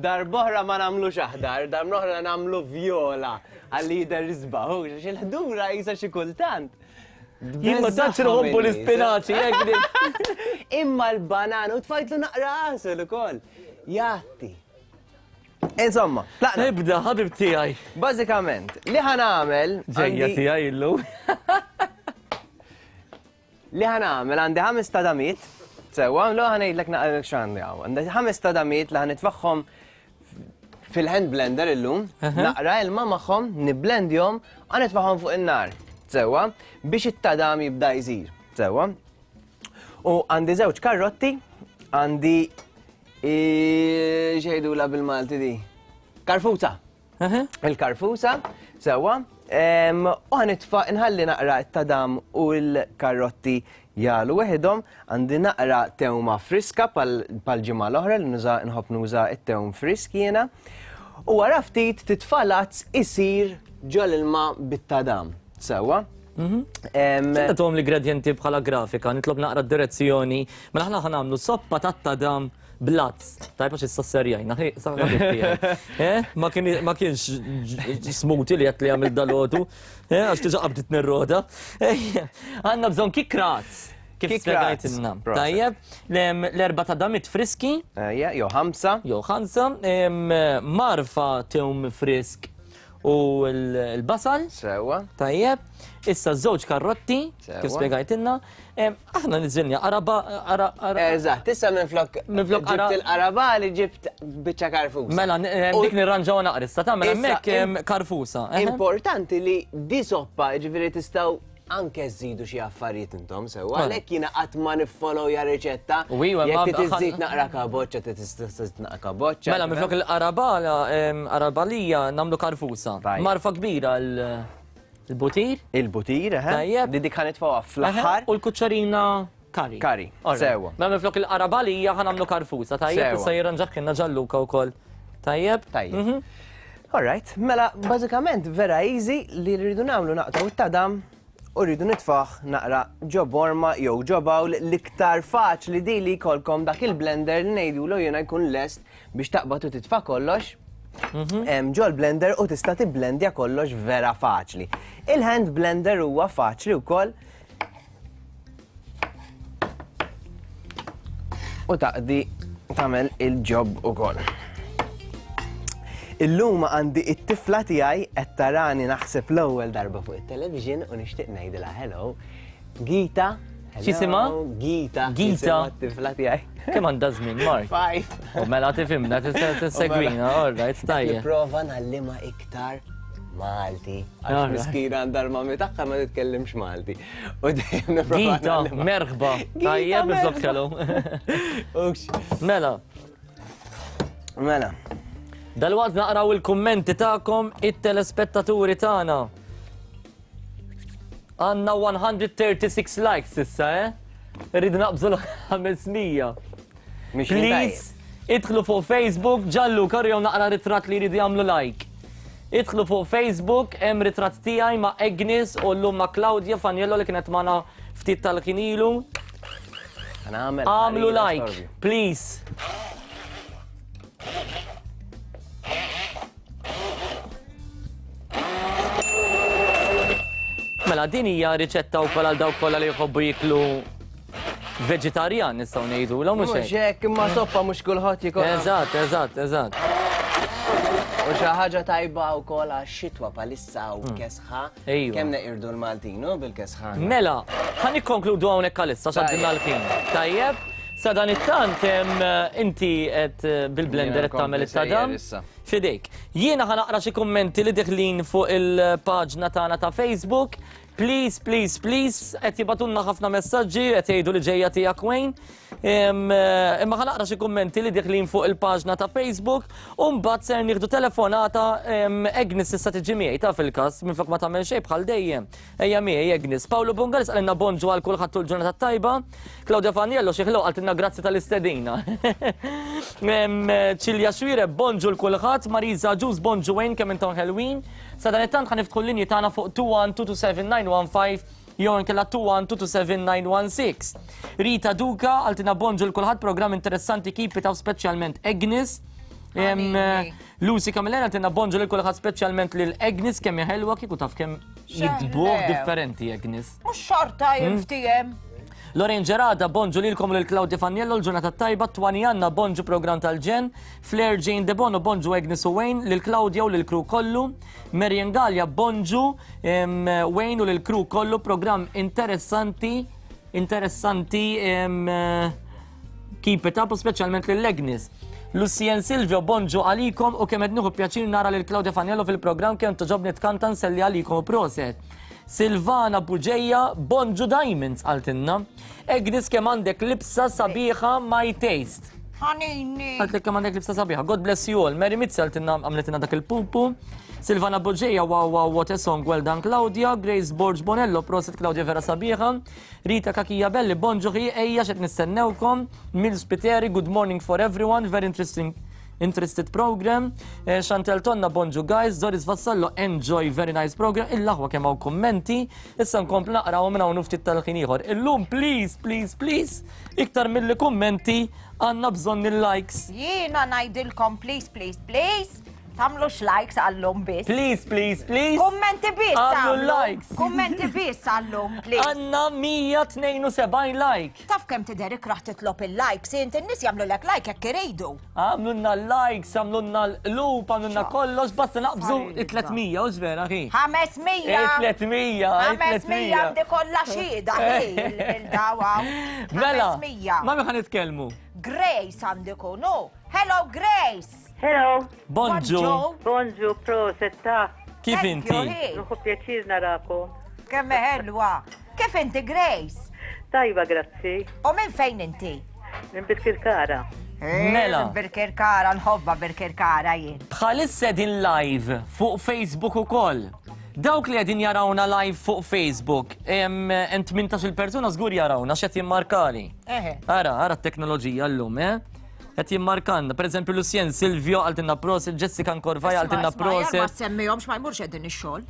Darb'oħra ma nagħmlux aħdar, darb'oħra nagħmlu vjola għalli jidher isbaħ, għax il-ħdura jisa xi kultant. Jien ma tantx nħobbu l-ispinaċi, Agnes. Imma l-banana u tfajtlu naqra għasel ukoll. Jatti. Insomma, tlaqna. Nibda, ħabib tiegħi. Bażikament, li ħa nagħmel. Ġejja tiegħi illum. Li ħa nagħmel għandi ħames tadamiet. Sewwa, l ħa ngħidlek naqralek x'għandi hawn. Għandi ħames tadamiet li ħa nitfaħħom fil-hand blender illum, naqra ilma magħhom, nibblendjhom, u nitfaħħom fuq in-nar. Sewwa, biex it-tadam jibda jsir. Sewwa. U għandi żewġ karrotti, għandi xejdula bil-Malti di? Karfusa. Il-karfusa, sewwa. U ħanitfa' nħalli naqra t-tadam u l-karrotti jalu weħidhom. Għandi naqra tewma friska pal-ġimgħa l-oħra li nuża nħobb nuża t-tewm frisk jiena. U wara ftit titfa' lazz isir ġol ilma bit-tadam. Sewwa. Tagħtuhom l-ingredjenti bħala grafika, nitlob naqra d-direzzjoni. Mela aħna ħa nagħmlu soppa tat-tadam blazz. Tajba għax issa serjajna, ma kienx smoothie li qed li għamil dalodu, għax diġà qabditni r-roda. Għandna bżonn kikraz. Kif spjegajtilna. Tajjeb, l-erba' tadamit friski. Jew ħamsa. Jew ħamsa, marfa tewm frisk u l-basal. Sewwa. Tajjeb, issa żewġ karrotti, kif spjegajtilna. Aħna niżilna qaraba. Eżatt, issa minflok ġibt il-qaraba li ġibt biċċa karfusa. Mela, dik nirranġaw naqra issa, tagħmel hemmhekk karfusa. Importanti li di soppa, jiġifieri tistgħu anke żidu xi affarijiet intom sewwa, għalhekk jiena qatt ma niffollowja riċetta. Jekk tiżid naqra kaboċċa, tista' naqra kaboċċa. Mela minflok il-qarabala, qarabalija nagħmlu karfusa. Marfa kbira l-butir. Il-butir, eh? Di dik ħanitfgħuha fl-aħħar. U l-kuċċarina kari. Kari, sewwa. Mela minflok il-qarabalija ħa nagħmlu karfusa, tajjeb, issa jirranġaħ Ġalluka wkoll. Tajjeb? Tajjeb. All right, mela bażikament vera easy li rridu nagħmlu naqtgħu it-tadam u rridu nitfaħ naqra ġo borma jew ġo bowl. L-iktar faċli di li jkollkom dak il-blender li ngħidulu jiena jkun lest biex taqbad u titfa' kollox ġo l-blender u tista' tibblendja kollox vera faċli. Il-hand blender huwa faċli wkoll u taqdi tagħmel il-ġob ukoll. Illum għandi it-tifla tiegħi qed tarani naħseb l-ewwel darba fuq it-television u nixtieq ngħidilha hello. Gita, X'jisimha? Gita. Gita. Tifla tiegħi. Kemm għandha żmien, Mark? Five. U mela tifhimna, tista' tissegwina, all right, tajjeb. Nipprova ngħallimha iktar Malti. Għax miskina għandha l-mami tagħha ma titkellimx Malti. U dejjem nipprova. Gita, merħba. Tajjeb, iżob kellu. Mela. Mela. Dalwaqt naqraw il-kummenti tagħkom it-telespettaturi tagħna. Għandna one hundred thirty-six likes issa, eh? Irridu naqbżu l-ħames mija. Please, idħlu fuq Facebook, ġallu karjew naqra ritratt li jridu jagħmlu like. Idħlu fuq Facebook, hemm ritratt tiegħi ma' Agnes u llum ma' Claudia Faniello li kienet magħna ftit tal-ħin ilu. Għamlu like, please. Mela, din hija riċetta wkoll għal dawk kollha li jħobbu jiklu veġitarjan nistgħu ngħidu, l mhux hekk. Mhux hekk, imma soppa mhux kulħadd jikol. Eżatt, eżatt, eżatt. U xi ħaġa tajba wkoll għax-xitwa bħalissa u kesħa. Kemm neqirdu l-Maltinu bil-kesħa. Mela, ħa nikkonkludu hawnhekk għalissa x'għaddilna l-ħin. Tajjeb, sa dan it-tant inti qed bil-blender qed tagħmel it-tadam. Fidejk. Jiena ħa naqra xi kummenti li deħlin fuq il-paġna tagħna ta' Facebook. Please, please, please, qed jibatunna ħafna messaġġi, qed jgħidu li ġejja tiegħek Wayne. Imma ħa naqra xi kummenti li deħlin fuq il-paġna ta' Facebook u mbagħad ser nieħdu telefonata Agnes issa tiġi miegħi ta' fil-każ minflok ma tagħmel xejn bħal dejjem. Ejja miegħi Agnes. Paolo Bungalis qalilna bonġu għal kulħadd tul ġurnata tajba. Claudia Faniello xi ħloq qaltilna grazzi tal-istedina. Ċilja Xwire bonġu l kulħadd, Marisa Ġuż bonġu Wayne kemm intom ħelwin. Sa dan it-tant ħa niftħu l-linji tagħna fuq two one two two seven nine one five jew inkella two one two two seven nine one six. Rita Duka qaltilna bonġu l kulħadd, programm interessanti keep it up speċjalment Agnes. Lucy Camillera qaltilna bonġu lil kulħadd speċjalment lil Agnes kemm hija ħelwa kieku taf kemm jikdbuh differenti Agnes. Mhux xorta jinftiehem. Lorraine Gerada, bonġu lilkom lil Claudia Faniello, l-ġurnata tajba, Twani Anna, bonġu program tal-ġen, Flair Jane Debono, bonġu Agnes u Wayne, lil Claudia u lil crew kollu, Marian Gallia, bonġu Wayne u lil crew kollu, program interessanti, interessanti, keep it up, u speċjalment lil Agnes. Lucien Silvio, bonġu għalikom u kemm qed nieħu pjaċir nara lil Claudia Faniello fil-programm kemm toġobni tkanta nselli għalikom u proset. Silvana Buġeja, bonġu Diamonds għaltinna. Agnes kemm għandek libsa sabiħa my taste. Ħanini. Għaltlek kemm għandek libsa sabiħa. God bless you all. Mary Mizzi għaltinna għamletina dak il-pupu. Silvana Buġeja, wow wow what a song, well done Claudia. Grace Borg Bonello, proset Claudia vera sabiħa. Rita Kakija Belli, bonġu ħi, ejja xed nistennewkom. Mills Piteri, good morning for everyone, very interesting. Interested program. Chantel Tonna, bonġu guys. Doris Vassallo, enjoy, very nice program. Il-laħwa kemm hawn kummenti. Issa nkomplu naqraw minn hawn ftit tal-ħin ieħor. Illum please, please, please, iktar milli kummenti għandna bżonn il-likes. Jiena ngħidilkom please, please, please, tagħmlux likes għallum biss. Please, please, please. Kummenti biss. Għamlu likes. Kummenti biss għallum, please. Għandna mija tnejn u sebgħin like. Taf kemm tidher ikraħ titlob il-likes, inti n-nies jagħmlu lek like jekk iridu. Għamlulna likes, għamlulna l-qlub, għamlulna kollox, basta naqbżu it-tliet mija, u vera ħi. Ħames mija. It-tliet mija. Ħames mija għandi kollha xhieda il-dawa. Mela, ma' min ħa nitkellmu? Grace għandi kunu. Hello Grace. Hello. Bonġu. Bonġu, proset ta' Kif inti? Nuħu pjaċir narakom. Kemm ħelwa. Kif inti Grace? Tajba, grazzi. U minn fejn inti? Minn Birkirkara. Mela. Birkirkara, nħobba Birkirkara jien. Bħalissa din live fuq Facebook ukoll. Dawk li qegħdin jarawna live fuq Facebook, hemm tmintax-il persuna żgur jarawna x'qed jimmarkali. Ara, ara t-teknoloġija llum, eh? Qed jimmarkanna, per eżempju Lucien Silvio għaltinna proset, Jessica Nkorvaj għaltinna proset. Ma semmihomx ma jmurx qegħdin ix-xogħol.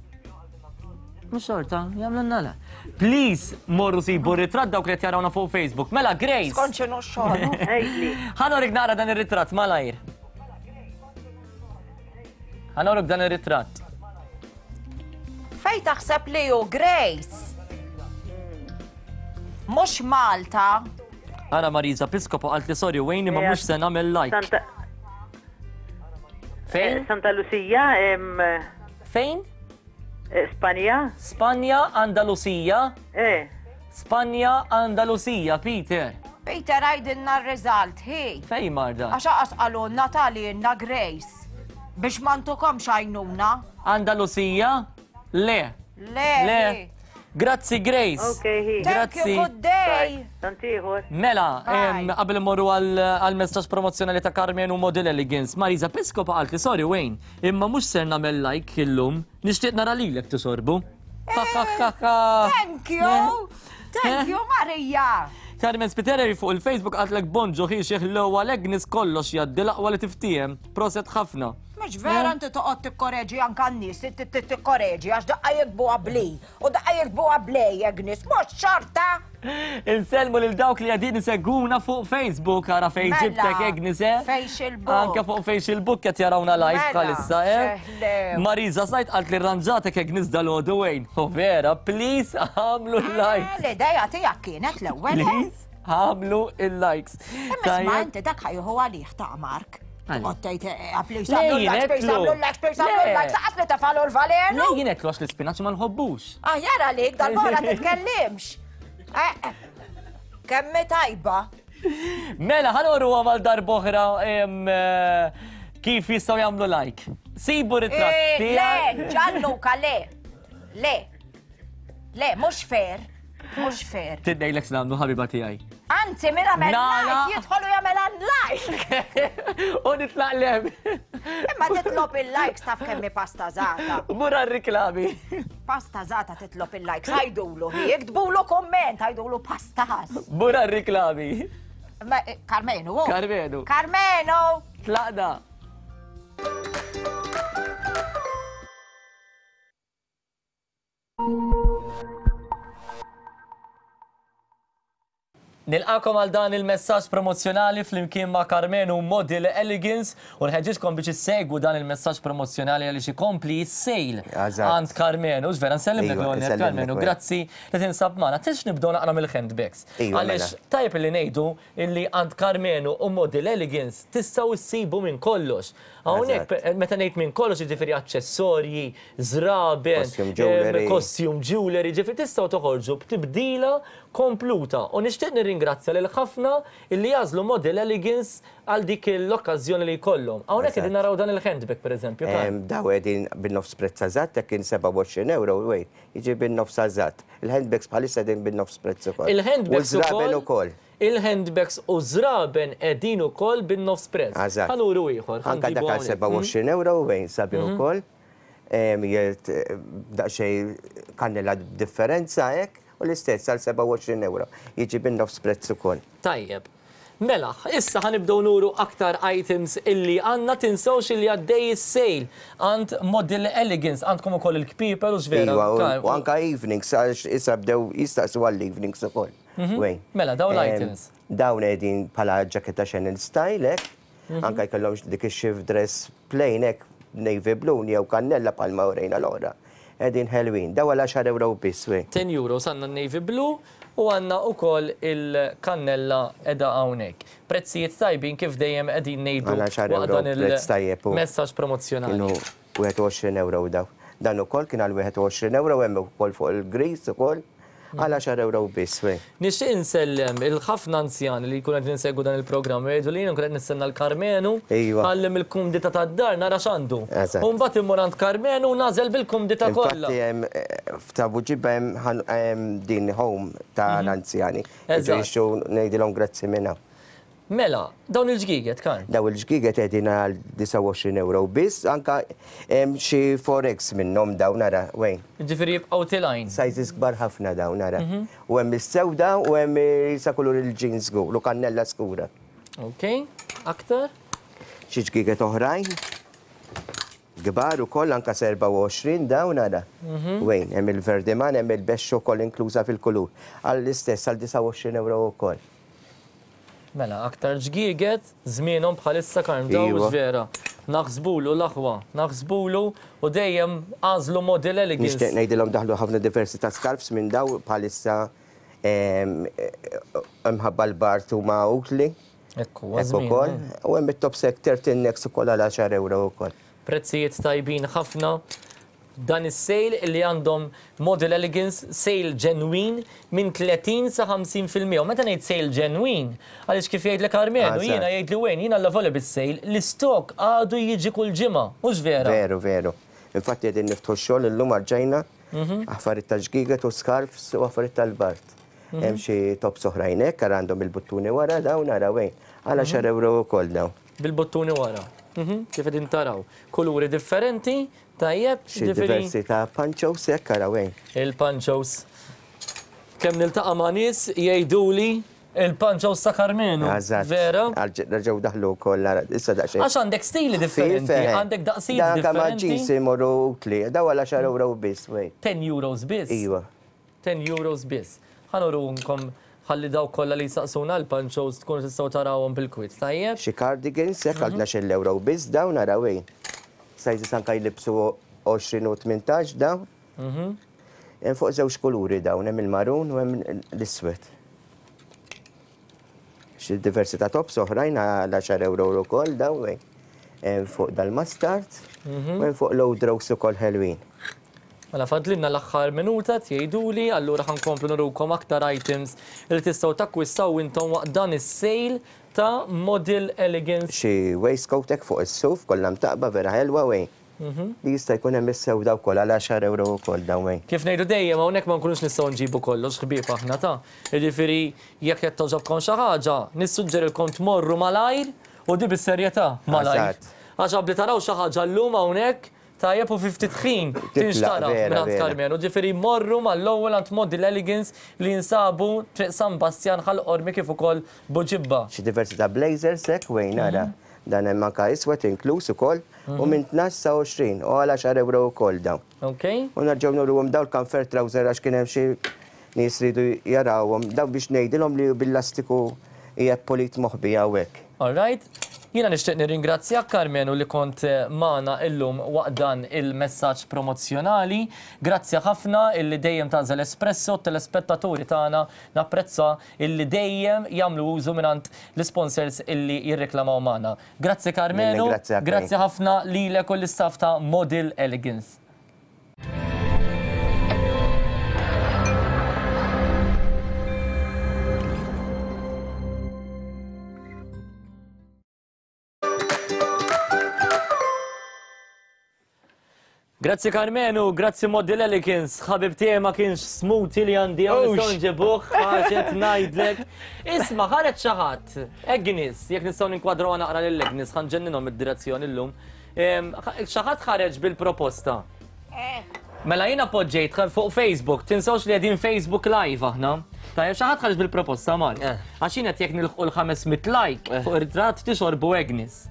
Mhux xorta, jagħmlulna la. Please morru sibu ritratt dawk li qed jarawna fuq Facebook. Mela Grace. Skont x'inhu x-xogħol. Ħa norik naqra dan ir-ritratt malajr. Ħa norik dan ir-ritratt. Fej taħseb li hu Grace? Mhux Malta. Ara Marisa Piscopo qalt li sorry Wayne ma mhux se nagħmel like. Fejn? Santa Lucia. Fejn? Spanja. Spanja, Andalusija. Eh. Spanja, Andalusija, Peter. Peter, għidilna r-result, hi. Fej marda? Għax aqas qalulna tal-inna Grace. Biex ma ntukomx għajnuna. Andalusija? Le. Le. Le. Grazzi, Grace. Ok, hi. Thank you, Grazzi. good day. Tantiħor. Mela, em, qabel immorru għal messaġġ promozzjonali ta' Carmen u Model Elegance, Marisa Piscopa qalt li sorry Wayne, imma mhux ser nagħmel like illum, nixtieq nara lilek tisorbu. Ha ha ha ha. Thank you. Thank you, Maria. Carmen Spiteri fuq il-Facebook qatlek bonġu ħi l-ewwel Agnes kollox jgħaddi l-aqwa li tiftiehem. Proset ħafna. Mhux vera inti toqgħod tikkoreġi anke n-nies, tikkoreġi għax daqqa jiktbu qabli u daqqa jiktbu qablej Agnes, mhux xorta. Insellmu lil dawk li qegħdin isegwuna fuq Facebook, ara fejn Mela, ġibtek Agnes, eh? Facebook. Anke fuq Facebook qed jarawna live Mela, bħalissa, eh? xeħlew. Marisa Sajt qalt li rranġatek Agnes dal-għodu Wayne. U vera, please għamlu l-likes. L-idea tiegħek kienet l-ewwel. eh? Please għamlu il-likes. Imma isma' inti dak ħa jieħu għalih ta' Mark. Toqgħod tgħid eh, please Le, għamlu l-likes, please jien għamlu l-likes, please għamlu Le. l-likes, aqas li tafalu l-valenu. Le jien għedtlu għax l-ispinaċ ma nħobbux. Aħjar għalik, dal-bora titkellimx. Eh, eh, Kemm hi tajba. Mela, ħa nuru għal darb'oħra em, eh, kif jistgħu jagħmlu like. Sibu ritratt Eh, Le, tiegħek. Gianluca, le. Le. Le, mhux fair. Mhux fair. Tidnejlek x'nagħmlu ħabiba tiegħi. Anzi, min għamel Nala. like, jidħolu jagħmel unlike. U nitlaq lem. Imma titlob il-likes taf kemm hi pasta żata. Mur għar-riklami. Pasta żata titlob il-likes, għajdulu, jiktbulu komment, għajdulu pastas. Mur għar-riklami. Ma, eh, Carmenu, oh. Carmenu. Carmenu! Tlaqna. Nilqakom għal dan il-messaġġ promozzjonali flimkien ma' Carmenu Model Elegance u nħeġġiġkom biex issegwu dan il-messaġġ promozzjonali għaliex ikompli s-sale Eżatt. għand Carmenu. Vera nsellimlek Iva, l-għonet nsellimlek, Carmenu, Wayne. grazzi li tinsab magħna. Tix nibdew naqra mill-handbags. Iva, Għaliex mela. tajjeb li ngħidu illi għand Carmenu u Model Elegance tistgħu issibu minn kollox. Hawnhekk Eżatt. meta ngħid minn kollox jiġifieri aċċessorji, żraben, Costume jewelry. em, costume jewelry, ġifieri tistgħu toħorġu b'tibdila kompluta. U nixtieq nirringrazzja lil ħafna illi jagħżlu Model Elegance għal dik l-okkażjoni li jkollhom. Hawnhekk Eżatt. qegħdin naraw dan il-handbag pereżempju. Karl. Em, Daw qegħdin bin-nofs prezz eżatt, jekk kien sebgħa u għoxrin euro, wej, jiġi bin-nofs eżatt. Il-handbags bħalissa qegħdin bin-nofs prezz ukoll. Il-handbags U żraben ukoll. Il-handbags u żraben qegħdin ukoll bin-nofs prezz. Eżatt. Ħa nuru ieħor. Anka ħa nġibu dak għal hawnhekk. sebgħa u għoxrin euro, wejn, sabiħ Mhm. ukoll. Em, Jgħid eh, daqsxejn kannella differenza hekk, u l-istess għal sebgħa u għoxrin euro. Jiġi bin-nofs prezz ukoll. Tajjeb. Mela, issa ħa nibdew nuru aktar items illi għandna tinsewx illi għaddej is-sale għand Model Elegance, għandkom ukoll il-kpipel u x'vera. Iva, u- Karl. u anka evenings, għax issa bdew jistaqsu għall-evenings ukoll. Mhm. Wejn. Mela, dawn Em, l-items. Dawn qegħdin bħala ġaketta Chanel style hekk, Mhm. anka jkollhom dik ix-shift dress plain hekk navy blue jew kannella bħalma urejna l-oħra. Qegħdin ħelwin. Daw għal għaxar euro biss, wejn. ten euro għandna navy blue u għandna ukoll il-kannella edha hawnhekk. Prezzijiet tajbin kif dejjem qegħdin ngħidu Għal għaxar waqt euro dan prezz tajjeb u il-messaġġ promozzjonali. Kienu wieħed u għoxrin euro daw. Dan ukoll kien għal wieħed u għoxrin euro hemm ukoll fuq il-gris ukoll għal għaxar euro biss, wejn. Nixtieq insellem il-ħafna anzjani li jkunu qed insegwu dan il-programm u jgħidu li jien nkun qed nistenna l-Karmenu Iva. ħallim il-kumdità tad-dar nara x'għandu. Eżatt. U mbagħad immur għand Karmenu u nagħżel bil-kumdità kollha. Infatti hemm eh, f'ta' Buġibba hemm ħan- hemm din home ta' l-anzjani. Eżatt. Ġejxu ngħidilhom grazzi minna. Mela, dawn il-ġgiget kan. Daw il-ġgiget qegħdin għal disgħa u għoxrin euro biss, anka hemm xi four X minnhom dawn nara, wejn. Ġifieri jibqgħu tilgħin. Sizes kbar ħafna dawn nara. Mhm. U hemm is-sewda u hemm sa kulur il-jeans żgur u kannella skura. Ok, aktar? Xi ġgiget oħrajn. Kbar ukoll anka erbgħa u għoxrin dawn nara. Mhm. Wejn, hemm il-verdiman, hemm il-bexx ukoll inkluża fil-kulur. Għall-istess għal disgħa u għoxrin euro ukoll. Mela, aktar ġgieget, żmienhom bħalissa Karm daw Iva. vera. Naħsbulu l-aħwa, naħsbulu u dejjem għażlu Model Elegance. Nixtieq ngħidilhom daħlu ħafna diversi ta' scarfs minn daw bħalissa em, imħabba l-bard huma utli. Ekku, Ekku żmien, ukoll. eh. U hemm it-top set turtlenecks ukoll għal għaxar euro ukoll. Prezzijiet tajbin ħafna. Dan is-sale li għandhom Model Elegance sale ġenwin minn tletin sa ħamsin fil-mija. U meta ngħid sale ġenwin, għaliex kif jgħidlek Karmenu, jiena jgħidli wejn, jiena l-lavoli bis-sale, l-istok għadu jiġi kull ġimgħa, mhux vera? Veru, veru. Infatti qegħdin niftħu x-xogħol illum għarġajna affarijiet tal-ġgiget u scarfs u affarijiet tal-bart. Hemm xi tops oħrajn hekk għandhom il-buttuni wara dawn ara wejn. Għal għaxar euro wkoll dawn. Bil-buttuni wara. Kif qegħdin taraw. Kuluri differenti, tajjeb, Xi diversi ta' panchos hekk ara wejn. Il-panchos. Kemm niltaqa' ma' nies jgħiduli il-panchos ta' Karmenu. Vera? Reġgħu daħlu wkoll issa daqsxejn. Għax għandek stili differenti, għandek daqsijiet differenti. Dan ma' jeans imorru utli, daw għal għaxar euro biss, wejn. ten euros biss? Iva. ten euros biss. Ħa nurunkom ħalli daw kollha li jsaqsuna l-panchos tkunu tistgħu tarawhom bil-kwit. Tajjeb? Xi cardigans hekk għal tnax-il euro biss dawn ara wejn. Sizes anke jlibsu għoxrin u tmintax dawn. Hemm fuq żewġ kuluri dawn, hemm il-marun u hemm l-iswed. Xi diversi ta' tops oħrajn għal għaxar euro wkoll dawn wejn. Hemm fuq dal-mustard u hemm fuq low draws ukoll ħelwin. Mela fadlinna l-aħħar minuta tgħiduli, allura ħankomplu nurukom aktar items li tistgħu takkwistaw intom waqt dan is-sale ta' Model Elegance. Xi waistcoat hekk fuq is-suf kollha mtaqba vera ħelwa wejn. Li jista' jkun hemm is-sewda wkoll għal għaxar euro wkoll dawn wejn. Kif ngħidu dejjem hawnhekk ma nkunux nistgħu nġibu kollox ħbieb aħna ta'. Jiġifieri jekk qed togħġobkom xi ħaġa, nissuġġerilkom tmorru malajr u di bis-serjetà malajr. Għax qabli taraw xi ħaġa llum hawnhekk tajjeb u fi ftit ħin tinxtara mingħand Karmenu. Ġifieri morru mal-ewwel għand Model Elegance li jinsabu Triq San Bastjan Ħal Qormi kif ukoll Buġibba. Xi diversi ta' blazers hekk wejn ara. Dan hemm anke iswed inkluż ukoll u minn tnax sa għoxrin u għal għaxar euro wkoll dawn. Okay. U nerġgħu nuruhom dawn il-comfort trouser għax kien hemm xi nies ridu jarawhom dawn biex ngħidilhom li bil-lastiku hija polit moħbi hawnhekk. All right. Jiena nixtieq nirringrazzjak Karmenu li kont magħna illum waqt dan il-messaġġ promozzjonali. Grazzi ħafna illi dejjem tagħżel Espresso, telespettaturi tagħna napprezza illi dejjem jagħmlu użu mingħand l-sponsors illi jirreklamaw magħna. Grazzi Karmenu, grazzi ħafna lilek u l-istaff ta' Model Elegance. Grazzi Karmenu, grazzi Model Elegance, ħabib tiegħi ma kienx smoothie li għandi hawn nistgħu nġibuh, ħaġet ngħidlek. Isma' ħareġ xi ħadd, Agnes, jekk nistgħu ninkwadraw naqra lil Agnes, ħanġenninhom id-direzzjoni llum. Xi ħadd ħareġ bil-proposta. Mela jiena poġġejt fuq Facebook, tinsewx li qegħdin Facebook Live aħna. Tajjeb xi ħadd ħareġ bil-proposta Mar. Għax jien qed jekk nilħqu l-ħames mitt like fuq ir-ritratt tixorbu Agnes.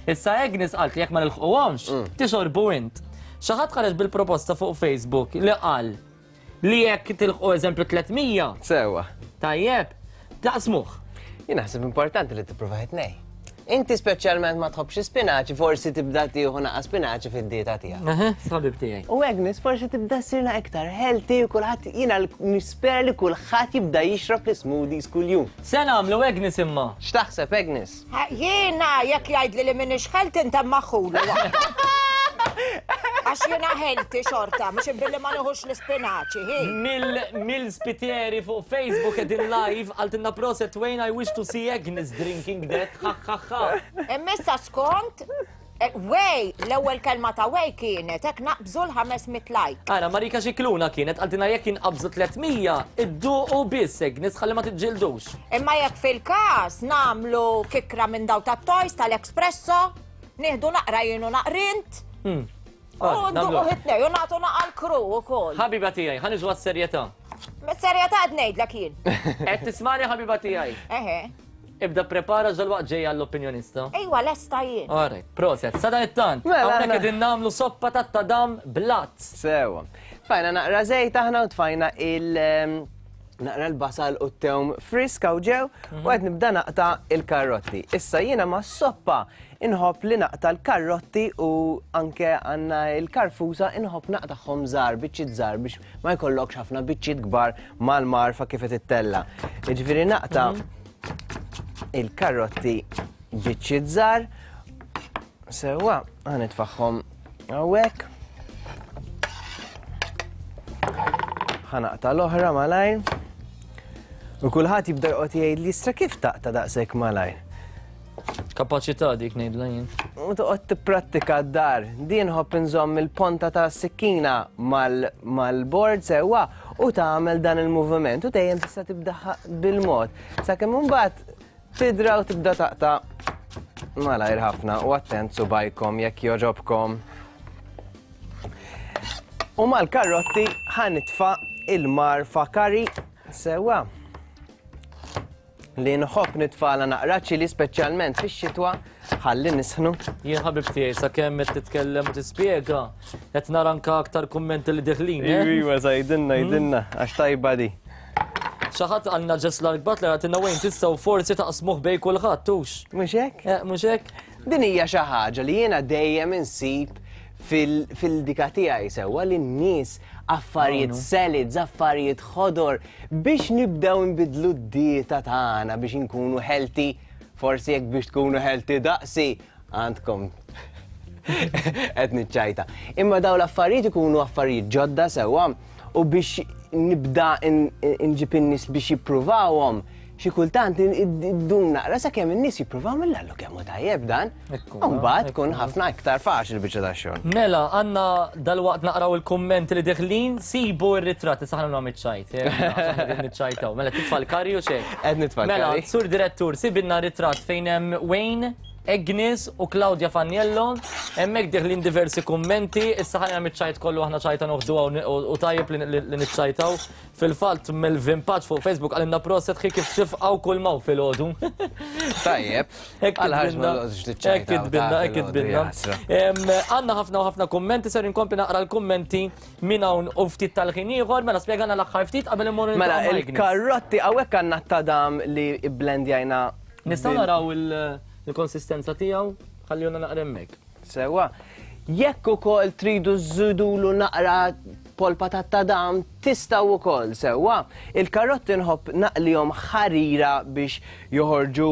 Issa Agnes qalt li jekk ma nilħquhomx, tixorbu int. Xi ħadd ħareġ bil-proposta fuq Facebook li qal li jekk tilħqu eżempju tliet mija. Sewwa. Tajjeb, taqsmuh. Jien naħseb importanti li tipprova tnej. Inti speċjalment ma tħobbx spinaċi, forsi tibda tieħu naqa' spinaċi fid-dieta tiegħek. Ħabib tiegħi. U Agnes forsi tibda ssirna iktar healthy u kulħadd jiena nispera li kulħadd jibda jixrob l-smoothies kuljum. Se nagħmlu Agnes imma. X'taħseb Agnes? Jiena jekk jgħidli li m'iniex healthy intemma ħulu. Għax jiena healthy xorta, mhux billi ma nieħux l-ispinaċi, hi. Mill-spitieri fuq Facebook qegħdin live qaltilna proset Wayne, I wish to see Agnes drinking that, ha ha ha. Immissa skont, Way, l-ewwel kelma ta' Way kienet hekk naqbżu l-ħames mitt like. Ara, Marika Xikluna kienet qaltilna jekk inqabżu tliet mija, idduqu biss Agnes ħalli ma tiġġildux. Imma jekk fil-każ nagħmlu kikra minn daw tat-toys tal-Espresso, nieħdu naqra jien u naqrint. U nduqu ħitnej, u nagħtu naqa l-kru ukoll. Ħabiba tiegħi, ħa niġu għas-serjetà. Mis-serjetà qed ngħidlek jien. Qed tismani ħabiba tiegħi. Eħe. Ibda prepara ġol-waqt ġejja l-opinjonista. Ejwa, lesta jien. All right, proset. Sadanittant, hawnhekk qegħdin nagħmlu soppa tat-tadam blat. Sewa. Tfajna naqra żejt aħna u tfajna il- naqra l-basal u t-tewm friska u ġew u qed nibda naqta il-karrotti. Issa jiena ma' soppa inħobb li naqta l-karrotti u anke għandna l-karfusa inħobb naqtagħhom żgħar, biċċiet żgħar biex ma jkollokx ħafna biċċiet kbar mal-marfa kif qed ittella. Jiġifieri naqta il-karrotti biċċiet żgħar. Sewwa, ħa nitfagħhom hawnhekk. Ħa naqta' l-oħra malajr. U kulħadd jibda joqgħod jgħid li istra kif taqta' daqshekk malajr. Kapaċità dik ngħidla jien. U toqgħod tipprattika d-dar. Din ħobb inżomm il-ponta ta' sikkina mal-bord sewwa u tagħmel dan il-moviment u dejjem tista' tibda bil-mod. Sakemm imbagħad tidra u tibda taqta' malajr ħafna u attent subajkom jekk jogħġobkom. U mal-karrotti ħa nitfa' il-marfa curry sewwa. Li nħobb nitfala naqra ċili speċjalment fix-xitwa ħalli nisħnu. Jien ħabib tiegħi sakemm qed titkellem u tispjega, qed nara anke aktar kummenti li deħlin. Iva, sajdinna, jdinna, għax tajba di. Xi ħadd għandna Jess Lark Butler għatinna wejn tistgħu forsi taqsmuh bej kulħadd tux. Mhux hekk? Mhux hekk? Din hija xi ħaġa li jiena dejjem insib fil-dika tiegħi sewwa li n-nies affarijiet salads, affarijiet ħodor biex nibdew nbidlu d-dieta tagħna biex inkunu healthy, forsi jekk biex tkunu healthy daqsi għandkom qed niċċajta. Imma dawn l-affarijiet ikunu affarijiet ġodda sewwa u biex nibda nġib in-nies biex jippruvawhom xi kultant iddum naqra sakemm in-nies jippruvaw mill-allu kemm hu tajjeb dan. U mbagħad tkun ħafna iktar faċli biċċa tax-xogħol. Mela, għandna dalwaqt naqraw il-kummenti li deħlin, sibu r-ritratti saħna nagħmlu iċ-ċajt. Niċċajtaw. Mela titfa' l-karri u xejn. Qed nitfa' l-karri. Mela, sur direttur, sibilna ritratt fejn hemm Wayne, Agnes u Claudia Faniello, hemmhekk deħlin diversi kummenti, issa ħajna miċ-ċajt kollu aħna ċajta noħduha u tajjeb li niċċajtaw. Fil-fatt Melvin Patch fuq Facebook għalinna proset ħi kif tifqgħu kull maw filgħodu. Tajjeb. Għal ma Hekk kitbinna, hekk kitbinna. Għandna ħafna u ħafna kummenti, ser inkompli naqra l-kummenti minn hawn u ftit tal-ħin ieħor, mela spjegana l-aħħar ftit qabel immorru. Mela il-karrotti hawnhekk għandna t-tadam li blendjajna. Nistgħu naraw il- il-konsistenza tiegħu ħallihna naqra hemmhekk. Sewwa. Jekk ukoll tridu żżidulu naqra polpa ta' tadam tistgħu wkoll sewwa. Il-karotti nħobb naqlihom ħarira biex joħorġu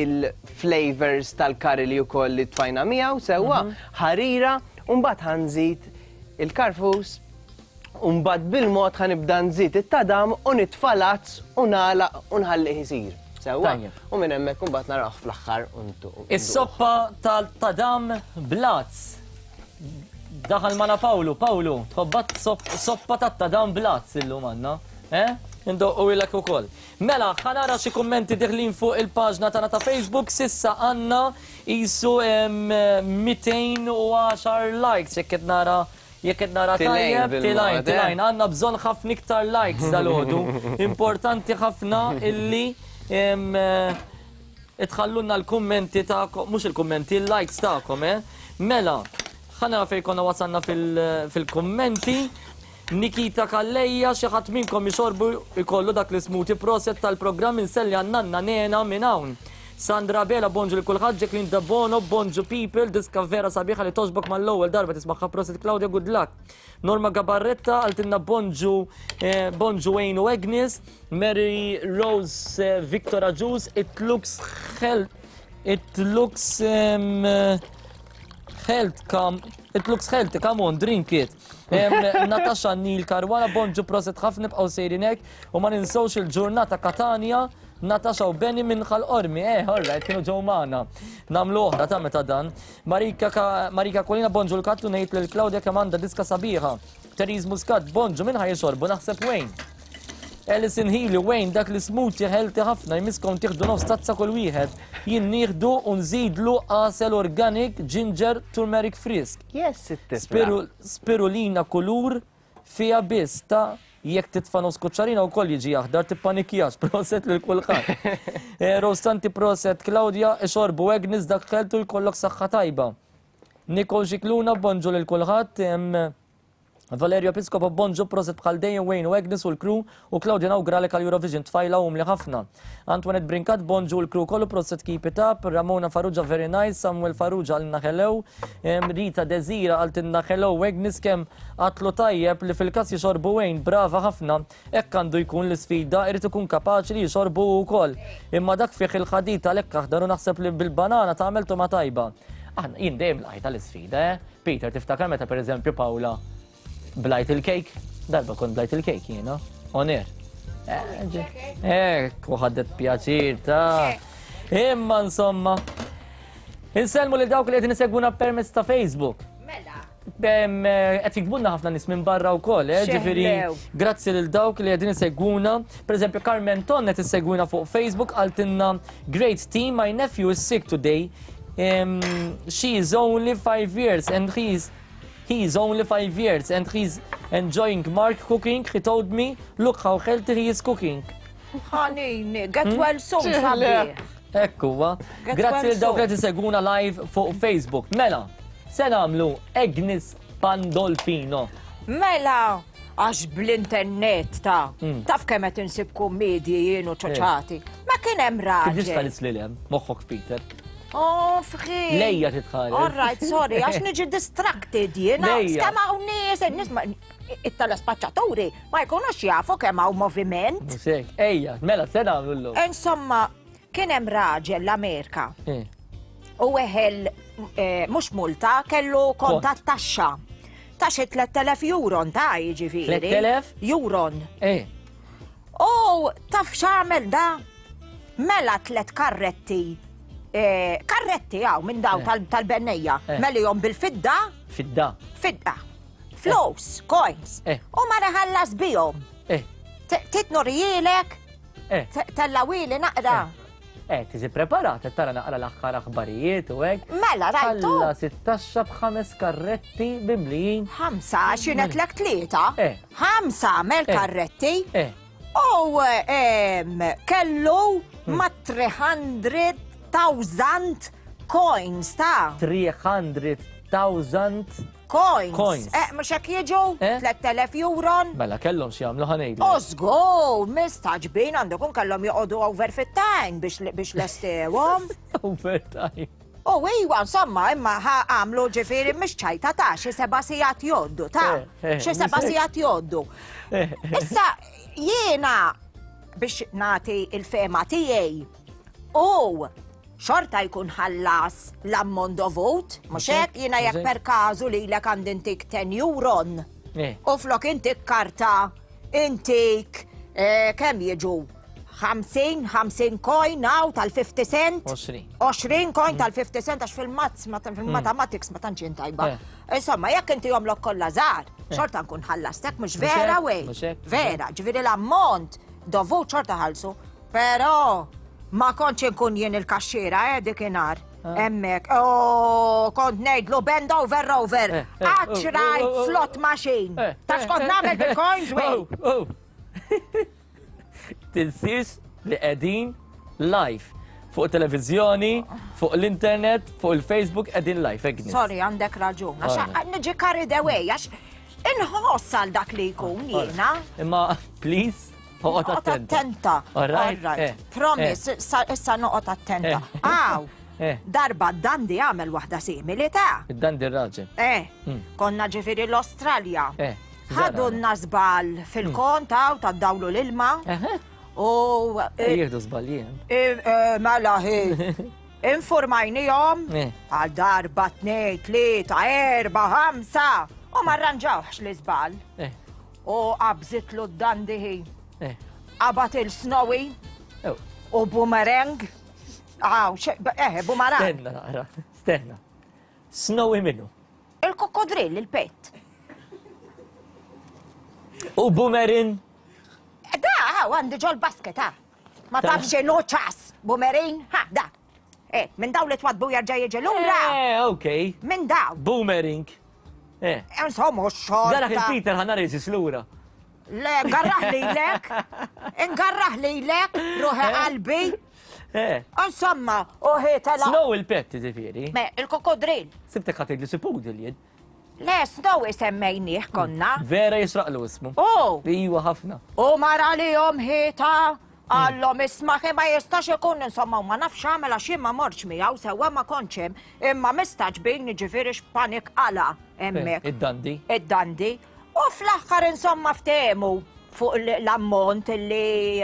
il-flavors tal-kari li wkoll li tfajna miegħu sewwa. Ħarira u mbagħad ħanżid il-karfus u mbagħad bil-mod ħanibda nżid it-tadam u nitfa' lazz u nagħlaq u nħallih isir. Sewwa, u minn hemmhekk imbagħad narawh fl-aħħar u Is-soppa tal-tadam blazz. Daħal magħna Pawlu, Pawlu, tħobbat soppa tat-tadam blazz illum għandna, eh? Indoqqu ilek ukoll. Mela, ħa nara xi kummenti deħlin fuq il-paġna tagħna ta' Facebook, sissa għandna qisu mitejn u għaxar likes jekk qed nara jekk qed nara tajjeb, tilajn, tilajn, għandna bżonn ħafna iktar likes dalgħodu. Importanti ħafna illi itħallunna l-kummenti tagħkom, mhux il-kummenti, il-likes tagħkom, eh? Mela, ħana fejn konna wasalna fil-kummenti. Nikita Kalleja, xi ħadd minnkom jixorbu jkollu dak l-smoothie proset tal-programm inselli għan-nanna Nena minn hawn. Sandra Bela, bonġu li kulħadd, Jacqueline Dabono, bonġu people, diska vera sabiħa li toġbok mal-ewwel darba tismaħħa proset Claudia, good luck. Norma Gabarretta għaltinna bonġu, bonġu Wayne u Agnes, Mary Rose Victor Aġus, it looks health, it looks um, health, come, it looks healthy, come on, drink it. Natasha Neil Caruana, bonġu proset ħafna bqgħu sejrin hekk u ma ninsewx il-ġurnata Katania. Natasha u Benny minn Ħal-Qormi, eh, all right, kienu ġew magħna. Nagħmlu oħra ta' meta dan. Marika, Marika Kolina, bonġu l-kattu ngħid lil Claudia kemm għandha diska sabiħa. Therese Muscat, bonġu minn ħaj jixorbu, naħseb Wayne. Alison Healy, Wayne, dak li smoothie healthy ħafna, jmiskom tieħdu nofs tazza kull wieħed. Jien nieħdu u nżidlu għasel organic, ginger, turmeric frisk. Yes, it-tifla. Spirulina kulur fija biss ta' jekk titfa' nofs kuċċarina wkoll jiġi aħdar, tippanikjax, proset lil kulħadd. Rostanti proset, Claudia, ixorbu Agnes dak ħeltu jkollok saħħa tajba. Nicole Xikluna, bonġu lil kulħadd. Valerio Piscopo, bonġu proset bħal dejjem Wayne u Agnes u l-crew u Claudia nawguralek għal Eurovision tfajla umli ħafna. Antoinette Brincat, bonġu l-crew kollu proset keep it up. Ramona Farrugia, very nice. Samuel Farrugia għalna hello. Rita Desira għaltinna hello. Agnes kemm għatlu tajjeb li fil-kas jixorbu Wayne, brava ħafna. Hekk għandu jkun l-isfida, irid ikun kapaċi li jixorbu wkoll. Imma dak fih il-ħadid għalhekk aħdar u naħseb li bil-banana tagħmel tuma tajba. Aħna jien dejjem lajta l-isfida, eh? Peter, tiftakar meta pereżempju Paula blajt il-kejk? Darba kont blajt il-kejk jiena, on air. Ek, u ħadet pjaċir ta' imma insomma. Insellmu lil dawk li qegħdin isegwuna permezz ta' Facebook. Mela. Qed jiktbulna ħafna nies minn barra wkoll, eh, ġifieri grazzi lil dawk li qegħdin isegwuna. Pereżempju Carmen Ton qed issegwina fuq Facebook qaltilna great team, my nephew is sick today. Um, she is only five years and he is He is only five years and he's enjoying Mark cooking. He told me, look how healthy he is cooking. Ħanini, get well soon, sabiħ. Ekku, grazzi lil dawk li tiseguna live fuq Facebook. Mela, se nagħmlu Agnes Pandolfino. Mela, għax bl-internet ta' taf kemm qed insib kummedji jien u ċoċati. Ma kien hemm raġel. Kif tista' lil hemm moħħok Peter. Oh, fħi. Lejja titħares. All right, sorry, għax niġi distracted jiena. Kemm hawn nies, nies it-telespaċċaturi ma jkunux jafu kemm hawn moviment. Musek, ejja, mela se nagħmlu llum. Insomma, kien hemm raġel l-Amerika. U weħel mhux multa, kellu kont tat-taxxa. Ta' xi tliet elef euron ta' jiġifieri. tliet elef? Euron. Eh. U taf x'għamel da? Mela tliet karretti. Karretti għaw minn daw tal-bennejja, melijom bil-fidda. Fidda. Fidda. Flus, coins. U ma reħallas bijom. Titnurijielek, tellawili naqra. Eh, tiġi preparata, tara naqra l-aħħar aħbarijiet u hekk. Mela, rajtu. Ħalla sittaxxa b'ħames karretti mimlijin. Ħamsa, xinet lek tlieta. Ħamsa mel karretti. U kellu ma' three hundred thousand coins ta' three hundred thousand coins. Coins. Eh, mhux hekk jiġu? tliet elef euron. Mela kellhom xi jagħmlu ħanejdlu. U żgur, mistaġbin għandu kun kellhom joqogħdu over fit-time biex biex lestewhom. Overtime. U iwa, insomma, imma għamlu ġifieri mhux ċajta ta' xi seba' sigħat jgħoddu ta' xi seba' sigħat jgħoddu. Issa jiena biex nagħti il-fema tiegħi u xorta jkun ħallas l-ammont dovut, mhux hekk jiena jekk per każu lilek għandi intik ten euron. U flok intik karta, intik kemm jiġu? ħamsin, ħamsin coin hawn tal-fifty cent. għoxrin coin tal-fifty cent għax fil-mazz, fil-mathematics ma tantx tajba. Insomma, jekk inti jomlok kollha żgħar, xorta nkun ħallastek, mhux vera wej. Vera, ġifieri l-ammont dovut xorta ħallsu, però ma kontx inkun jien il-kaxxiera, eh, dikinhar. Hemmhekk, oh, kont ngħidlu bend over over, għax rajt slot machine. Taf x'kont nagħmel bil-coins wej. Tinsiex li qegħdin live fuq televiżjoni, fuq l-internet, fuq il-Facebook qegħdin live, Agnes. Sorry, għandek raġun. Għax niġi carried away, għax inħoss għal dak li jkun jiena. Imma, please, oqgħod attenta. All right. Promise, issa noqgħod attenta. Aw, darba d-dandi għamel waħda simili ta' Id-dandi r-raġel. Eh, konna ġifieri l-Australja. Ħadunna żball fil-kont hawn tad-dawlu l-ilma. U jieħdu żball jien. Mela hi. Informajnihom għal darba tnejn, tlieta, erba', ħamsa u ma rranġawx l-iżball. U qabżitlu d-dandi hi. Qabat il-snowy u boomerang. Aw, eh, boomerang. Stenna naqra, stenna. Snowy minnu? Il-kokodrill, il-pet. U boomerang? Da, għandi ġol basket, ha. Ma tafx x'inhu ċas, boomerang, ha, da. Eh, minn daw li twadbu jarġa' jiġi lura. Eh, okej. Minn daw. Boomerang. Eh. Insomma, xorta. Darak il-Peter ħanar jiġi lura. Le, ngarraħ lilek. Ngarraħ lilek, ruħi qalbi. Eh. Insomma, u ħietela. Snow il-pet, ġifieri. Me, il-kokodrill. Sibtek ħatejt li sipudil jien. Le, Snow semmejnieh konna. Vera jisraqlu ismu. Oh! Iwa ħafna. U mara li jom ħieta, għallhom isma' ma jistax ikun, insomma, u ma nafx għamel għax jien ma mortx miegħu sewwa ma kontx hemm, imma mistaġbin jiġifieri x'panik qala hemmhekk. Id-dandi. Id-dandi. U fl-aħħar insomma ftehmu fuq l-ammont li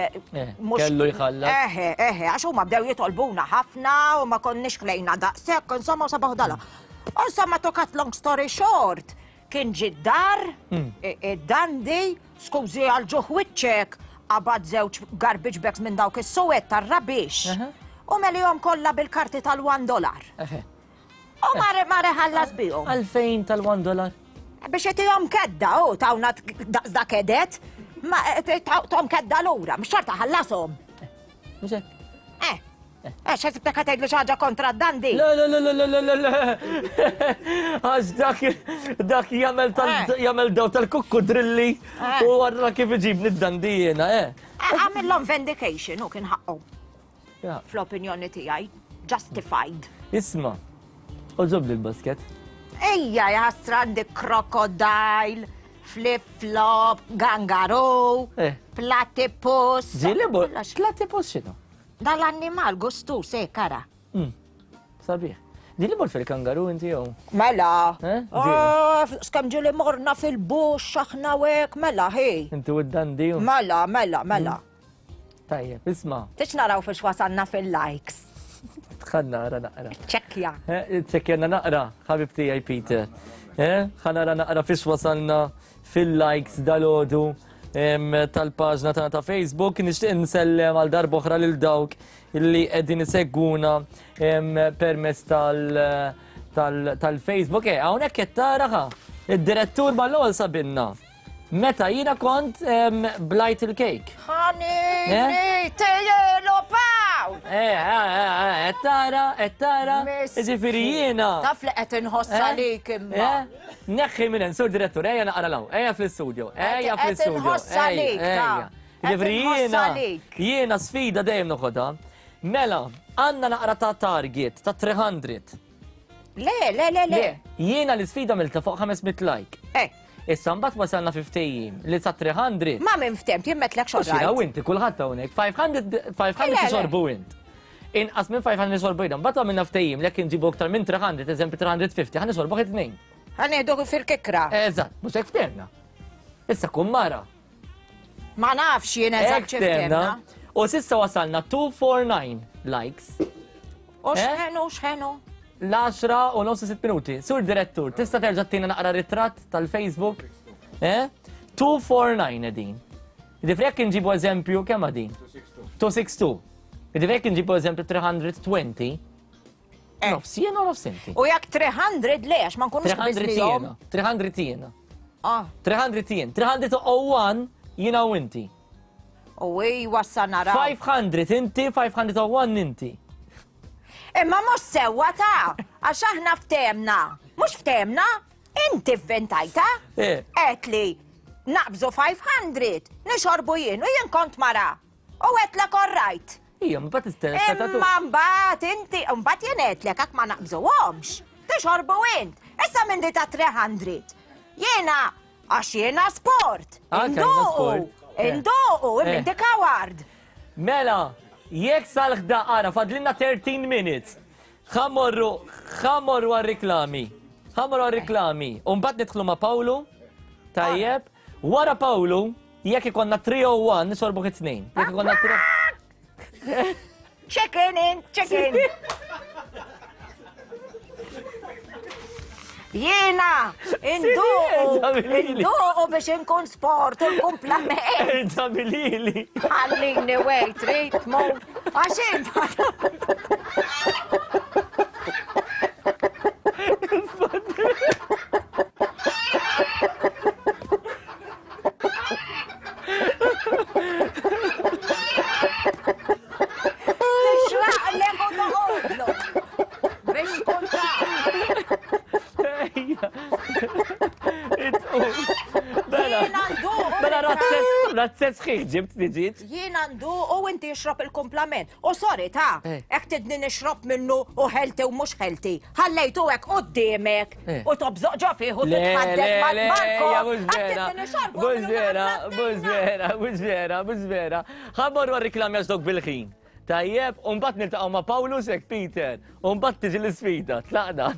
mhux kellu jħallas. Eħe, eħe, għax huma bdew jitolbuna ħafna u ma konniex klejna daqshekk, insomma, u sabaħ dala. Insomma, to cut long story short, Kien ġie d-dar, Mm. id-dandi, skużi għal ġuħ wiċċek, qabad żewġ garbage bags minn dawk is-suwed tar-rubbish. U melihom kollha bil-karti tal-one dollar. U mar mar iħallas bihom. Għalfejn tal-one dollar? Biex itihom kedda, u tawna daqs kedet, ma tom kedda lura, mhux xorta ħallasom. Mhux hekk. Eh. Eh, x'ħsibtek ħa tgħidli xi ħaġa kontra d-dandi? Le, le, le, le, le, le, le. Għax dak dak jagħmel tal jagħmel daw tal-kukkudrilli u għarra kif iġibni d-dandi jiena, eh. Għamillhom vindication u kien ħaqqu. Fl-opinjoni tiegħi, justified. Isma', oġobli l-basket. Ejja, jaħasra għandek crocodile, flip-flop, kangaroo, platypus. Ġieli, platypus x'inhu? Dal-annimal gustus, eh, kara. Sabiħ. Ġieli mort fil-kangaroo inti jew? Mela. Ġieli. Skem ġieli morna fil-bush, aħna u hekk, mela, hi. Inti u d-dandi. Mela, mela, mela. Tajjeb, isma'. Tix naraw fiex wasalna fil-likes. Ħa nara naqra. Ċekkja. Ċekkjana naqra, ħabib tiegħi Peter. Ħa nara naqra fiex wasalna fil-likes dal-għodu tal-paġna tagħna ta' Facebook. Nixtieq nsellem għal darb'oħra lil dawk illi qegħdin isegwuna permezz tal-Facebook. Eh, hawnhekk qed tara id-direttur mal-ewwel sabinna. Meta jiena kont blajt il-kejk. Ħanini, tejjelu paw! Eh, eh, eh, tara, qed tara. Jiġifieri jiena. Taf li qed inħossa lik imma. Neħħi minn hemm, sur direttur, ejja naqra law, ejja fl-istudio, ejja fl-istudio. Qed inħossa lik, ta. Jiġifieri jiena, jiena sfida dejjem noħodha. Mela, għandna naqra ta' target ta' three hundred. Le, le, le, le. Jiena l-isfida milta fuq ħames mitt like. Eh. Issa mbagħad wasalna fifteen li sa three hundred. Ma minn ftemt, jien metlek xorta. Xina u inti kulħadd hawnhekk five hundred, five hundred xorbu int. Inqas minn five hundred xorbu jien. Mbagħad għamilna ftehim li jekk inġibu aktar minn three hundred, eżempju three hundred fifty, ħa nixorbu tnejn. Ħa nieħdu fil-kikra. Eżatt, mhux hekk ftehmna. Issa kun mara. Ma nafx jien eżatt Hekk ftehmna. U s'issa wasalna two four nine likes. U x'ħenu, x'ħenu? L-għaxra u nofs sitt minuti. Sur direttur, tista' terġa' tina naqra ritratt tal-Facebook? Eh? two four nine edin. Ġifieri jekk inġibu eżempju kemm għadin? two six two. Ġifieri jekk inġibu eżempju three hundred twenty. Nofs jiena u nofs inti. U jekk three hundred le, għax ma nkunux three hundred qbiżnihom. jiena. three hundred jiena. Ah. three hundred jien. three hundred oh one jiena u inti. U ej wassa naraw. five hundred inti, five hundred oh one inti. Imma mhux sewwa ta' għax aħna ftehmna. Mhux ftehmna, inti vventajta. Eh. Qed li naqbżu five hundred, nixorbu jien u jien kont mara. U għedtlek all right. Ija, mbagħad is-telespettatur. Imma mbagħad inti, mbagħad jien għedtlek hekk ma naqbżuhomx. Tixorbu int. Issa minn di ta' three hundred. Jiena għax jiena sport. Ah, kajna Induqu. sport. Eh. Induqu, Eh. inti kaward. Mela, jekk sal-ħda ara, fadlinna thirteen minutes. Ħamorru, ħamorru għal-reklami. Ħamorru għal-reklami. Umbagħad nidħlu ma' Pawlu. Tajjeb. Wara Pawlu, jekk ikonna three oh one, nisorbu it-tnejn. Jekk ikonna three Chicken in, chicken. Jiena, induqu, induqu biex inkun sport, inkun plament. Erġa' bilili. Ħallini wejt, trid tmur. Għax int. Tixraqlek u toqgħodlu. Biex tkun taf. Jiena nduqu. Mela razzett sħiħ ġibt li ġiet. Jiena nduqu u inti ixrob il-kumplament. U sorry ta' hekk tidni nixrob minnu u healthy u mhux healthy. Ħallejtu hekk quddiemek u tobżoq ġo fih u titħadded mal-marko. Mhux vera, mhux vera, mhux vera, mhux vera, mhux vera. Ħa mmorru għar-riklami għax dok bil-ħin. Tajjeb, u mbagħad niltaqgħu ma' Pawlu sek Peter, u mbagħad tiġi l-isfida. Tlaqna.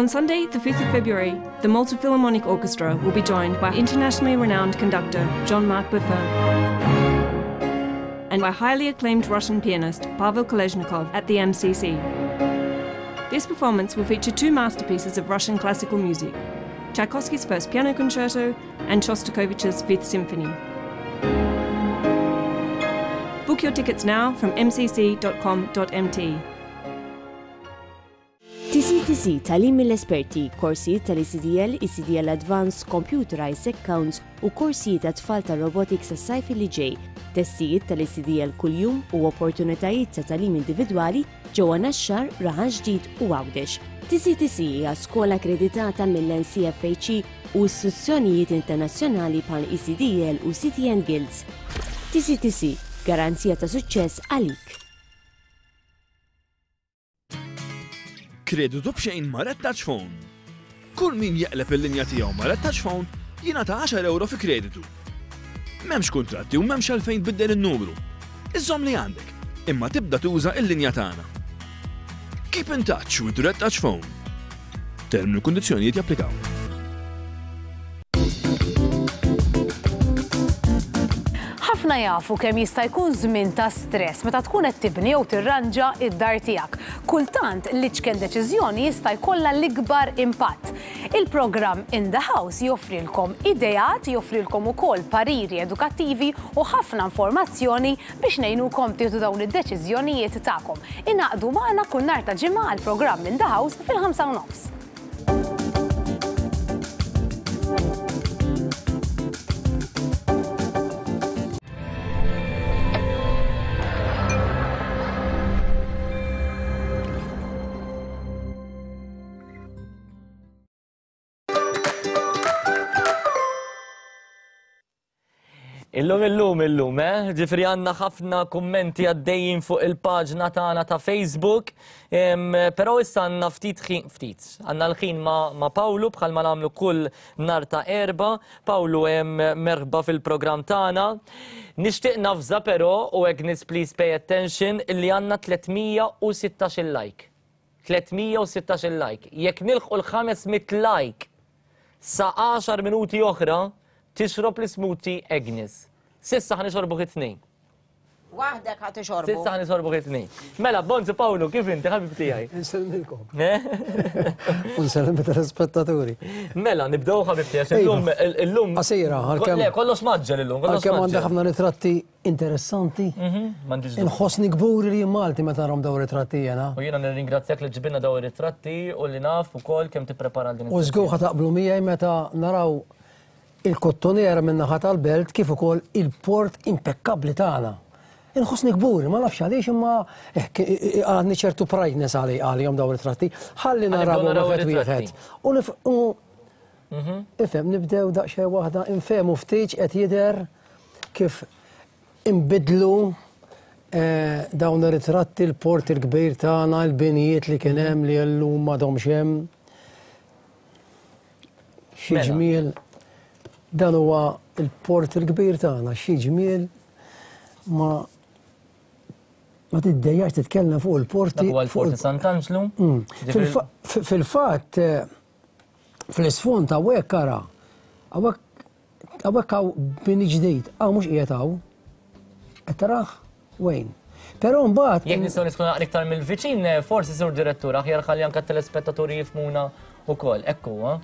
On Sunday, the fifth of February, the Malta Philharmonic Orchestra will be joined by internationally renowned conductor Jean-Marc Buffon and by highly acclaimed Russian pianist Pavel Kolesnikov at the M C C. This performance will feature two masterpieces of Russian classical music, Tchaikovsky's First Piano Concerto and Shostakovich's Fifth Symphony. Book your tickets now from m c c dot com dot m t. T C T C tagħlim mill-esperti, korsijiet tal-E C D L, E C D L Advanced, Computerized Accounts u korsijiet ta' tfal ta' robotics għas-sajf li ġej, testijiet tal-E C D L kuljum u opportunitajiet ta' tagħlim individwali ġewwa Naxxar, Raħal Ġdid u Għawdex. T C T C hija skola akkreditata mill-N C F H E u istituzzjonijiet internazzjonali bħal E C D L u C T N Guilds. T C T C, garanzija ta' suċċess għalik. Kreditu b'xejn ma' Red Touch Phone. Kull min jeqleb il-linja tiegħu ma' Red Touch Phone jingħata għaxar euro fi kreditu. M'hemmx kuntratti u m'hemmx għalfejn tbiddel in-numru. Iżżomm li għandek, imma tibda tuża l-linja tagħna. Keep in touch with Red Touch Phone. Termini u kundizzjonijiet japplikaw. Ħafna jafu kemm jista' jkun żmien ta' stress meta tkun qed tibni jew tirranġa id-dar tiegħek. Kultant l-iċken deċiżjoni jista' jkollha l-ikbar impatt. Il-programm In the House joffrilkom ideat, joffrilkom ukoll pariri edukattivi u ħafna informazzjoni biex ngħinukom tieħdu dawn id-deċiżjonijiet tagħkom. Ingħaqdu magħna kull nhar ta' ġimgħa għall-programm In the House fil-ħamsa u nofs. Illum, illum, illum, eh? Ġifri għanna ħafna kummenti għaddejjin fuq il-paġna tagħna ta' Facebook, però issa għanna ftit ħin, ftit, għanna l-ħin ma', ma' Pawlu bħalma nagħmlu kull nhar ta' Erbgħa. Pawlu hemm merħba fil-programm tagħna. Nixtieq nafża però, u Agnes please pay attention, illi għandna tliet mija u sittax-il like. tliet mija u sittax-il like. Jekk nilħqu l-ħames mitt like sa għaxar minuti oħra, tixrob l-smoothie Agnes. Sissa ħa nixorbu it-tnejn. Waħdek ħa tixorbu. Sissa ħa nixorbu it-tnejn. Mela, Bonzi Pawlu, kif inti ħabib tiegħi? Insellmilkom. U nsellem telespettaturi. Mela, nibdew ħabib tiegħi, illum illum. Qasira, għalkemm. Le, kollox maġġel illum, kollox Għalkemm għandha ħafna ritratti interessanti. M'għandix dubju. Inħossni kburi li jien Malti meta narhom dawn ritratti jiena. U jiena nirringrazzjak li ġibna dawn ir-ritratti u li naf ukoll kemm tipprepara għal din U żgur ħa taqblu miegħi meta naraw il-kottonera min-naħa tal-belt kif ukoll il-port impekkabbli tagħna. Inħossni kburi, ma nafx għaliex imma għandni ċertu prideness għalihom dawn ritratti. Ħalli naraw wieħed wieħed. U ifhem nibdew daqsxejn waħda infehmu ftit qed jidher kif inbidlu dawn ir-ritratti l-port il-kbir tagħna, l-binijiet li kien hemm li llum m'għadhomx hemm. Xi ġmiel. Dan huwa il-port il-kbir tagħna, xi ġmiel ma ma tiddejjax titkellem fuq il-porti. Dak huwa l-port Sant'Anġlu. Fil-fatt fl-isfond hawnhekk ara, hawnhekk hawn bini ġdid, hawn mhux qiegħed hawn. Qed tarah wejn. Però mbagħad jekk nistgħu niskunu naqra iktar mill-viċin, forsi sur direttur aħjar ħalli anke t-telespettaturi jifhmuna wkoll. Hekk huwa.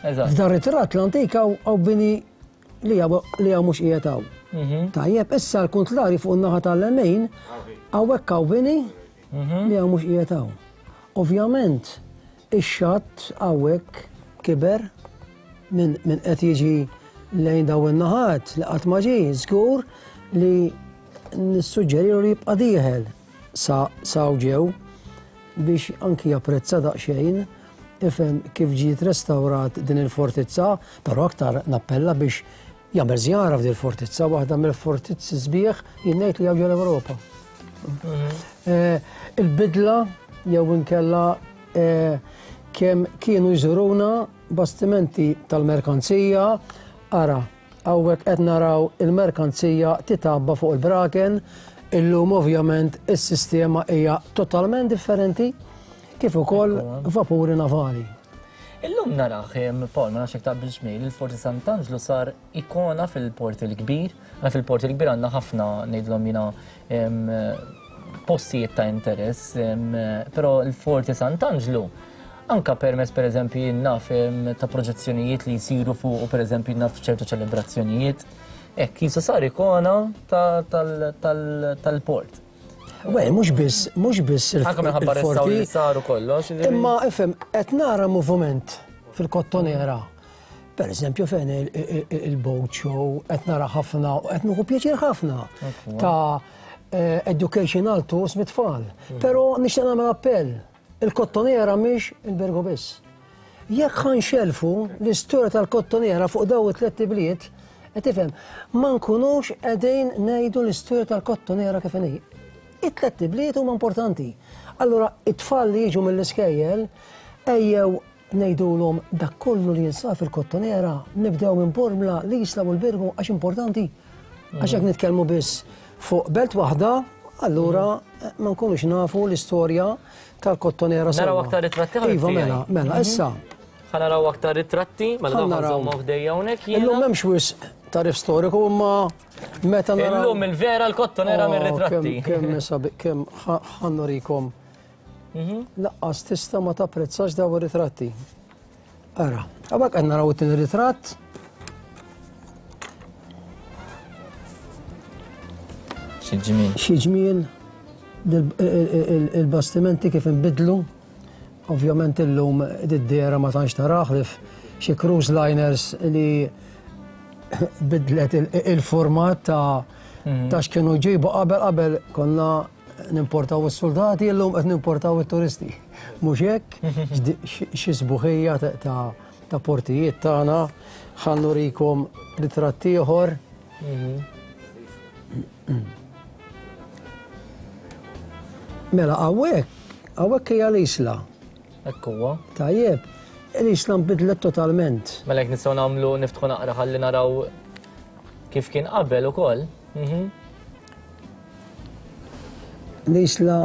F'dan ritratt l-antik hawn bini li hawn mhux qiegħed hawn. Tajjeb, issa l-kuntlari fuq in-naħa tal-lemin hawnhekk hawn bini li hawn mhux qiegħed hawn. Ovvjament, ix-xatt hawnhekk kiber minn qed jiġi lejn dawn in-naħat li qatt ma ġie, żgur li nissuġġerilu li jibqa' dieħel sa ġew biex anki japprezza daqsxejn ifhem kif ġiet restawrat din il-fortizza, però aktar nappella biex jagħmel żjara f'din il-fortizza, waħda mill-fortizzi sbieħ jien ngħid li hawn ġol-Ewropa. Il-bidla jew inkella kemm kienu jżuruna bastimenti tal-merkanzija, ara, hawnhekk qed naraw il-merkanzija titabba fuq il-braken, illum ovvjament is-sistema hija totalment differenti. kif ukoll vapuri navali. Illum naraħ, Paul, ma nafx jekk taqbilx miegħi, il-Forti Sant'Anġlu sar ikona fil-Port il-Kbir. Għandna fil-Port il-Kbir għandna ħafna ngħidlhom jiena postijiet ta' interess, però l-Forti Sant'Anġlu anka permess pereżempju jien naf ta' proġezzjonijiet li jsiru fuq, pereżempju naf ċertu ċelebrazzjonijiet, hekk qisu sar ikona tal-port. Wej, mhux biss, mhux biss Anke minħabba restawr li saru kollox. Imma ifhem, qed nara moviment fil-Kottonera. Per eżempju fejn il-boat show, qed nara ħafna, qed nieħu pjaċir ħafna ta' educational tours mit-tfal. Però nixtieq nagħmel appell, il-Kottonera mhix il-Birgu biss. Jekk ħanxelfu l-istorja tal-Kottonera fuq daw it-tliet ibliet, qed tifhem, ma nkunux qegħdin ngħidu l-istorja tal-Kottonera kif inhi. It-tliet ibliet huma importanti. Allura it-tfal li jiġu mill-iskejjel ejjew ngħidulhom dak kollu li jinsab fil-Kottonera, nibdew minn Bormla, l-Isla u l-Birgu għax importanti. Għax jekk nitkellmu biss fuq belt waħda, allura ma nkunux nafu l-istorja tal-Kottonera sewwa. Naraw aktar ritratti ħabib. Iva, mela, mela, issa. Ħa naraw aktar ritratti, mela dawn nżommu ħdejja hawnhekk jiena. Illum m'hemmx wisq tarif storiku imma meta naraw. Illum il-vera l-Kottonera mir-ritratti. Kemm sabi, kemm ħannurikom. Laqqas tista' ma tapprezzax daw ir-ritratti. Ara, hawnhekk qed naraw it-tieni ritratt. Xi ġmiel. Xi ġmiel il-bastimenti kif inbidlu. Ovvjament illum id-dera ma tantx taraħ li xi cruise liners li bidlet il-format ta' ta' x'kienu jġibu qabel qabel konna nimportaw is-soldati, illum qed nimportaw it-turisti. Mhux hekk, xi sbuħija ta' portijiet tagħna. Ħa nurikom ritratt ieħor. Mela hawnhekk, hawnhekk hija l-Isla. Hekk huwa. Tajjeb, l-Isla nbidlet totalment. Mela jekk nistgħu nagħmlu niftħu naqra ħalli naraw kif kien qabel ukoll. L-Isla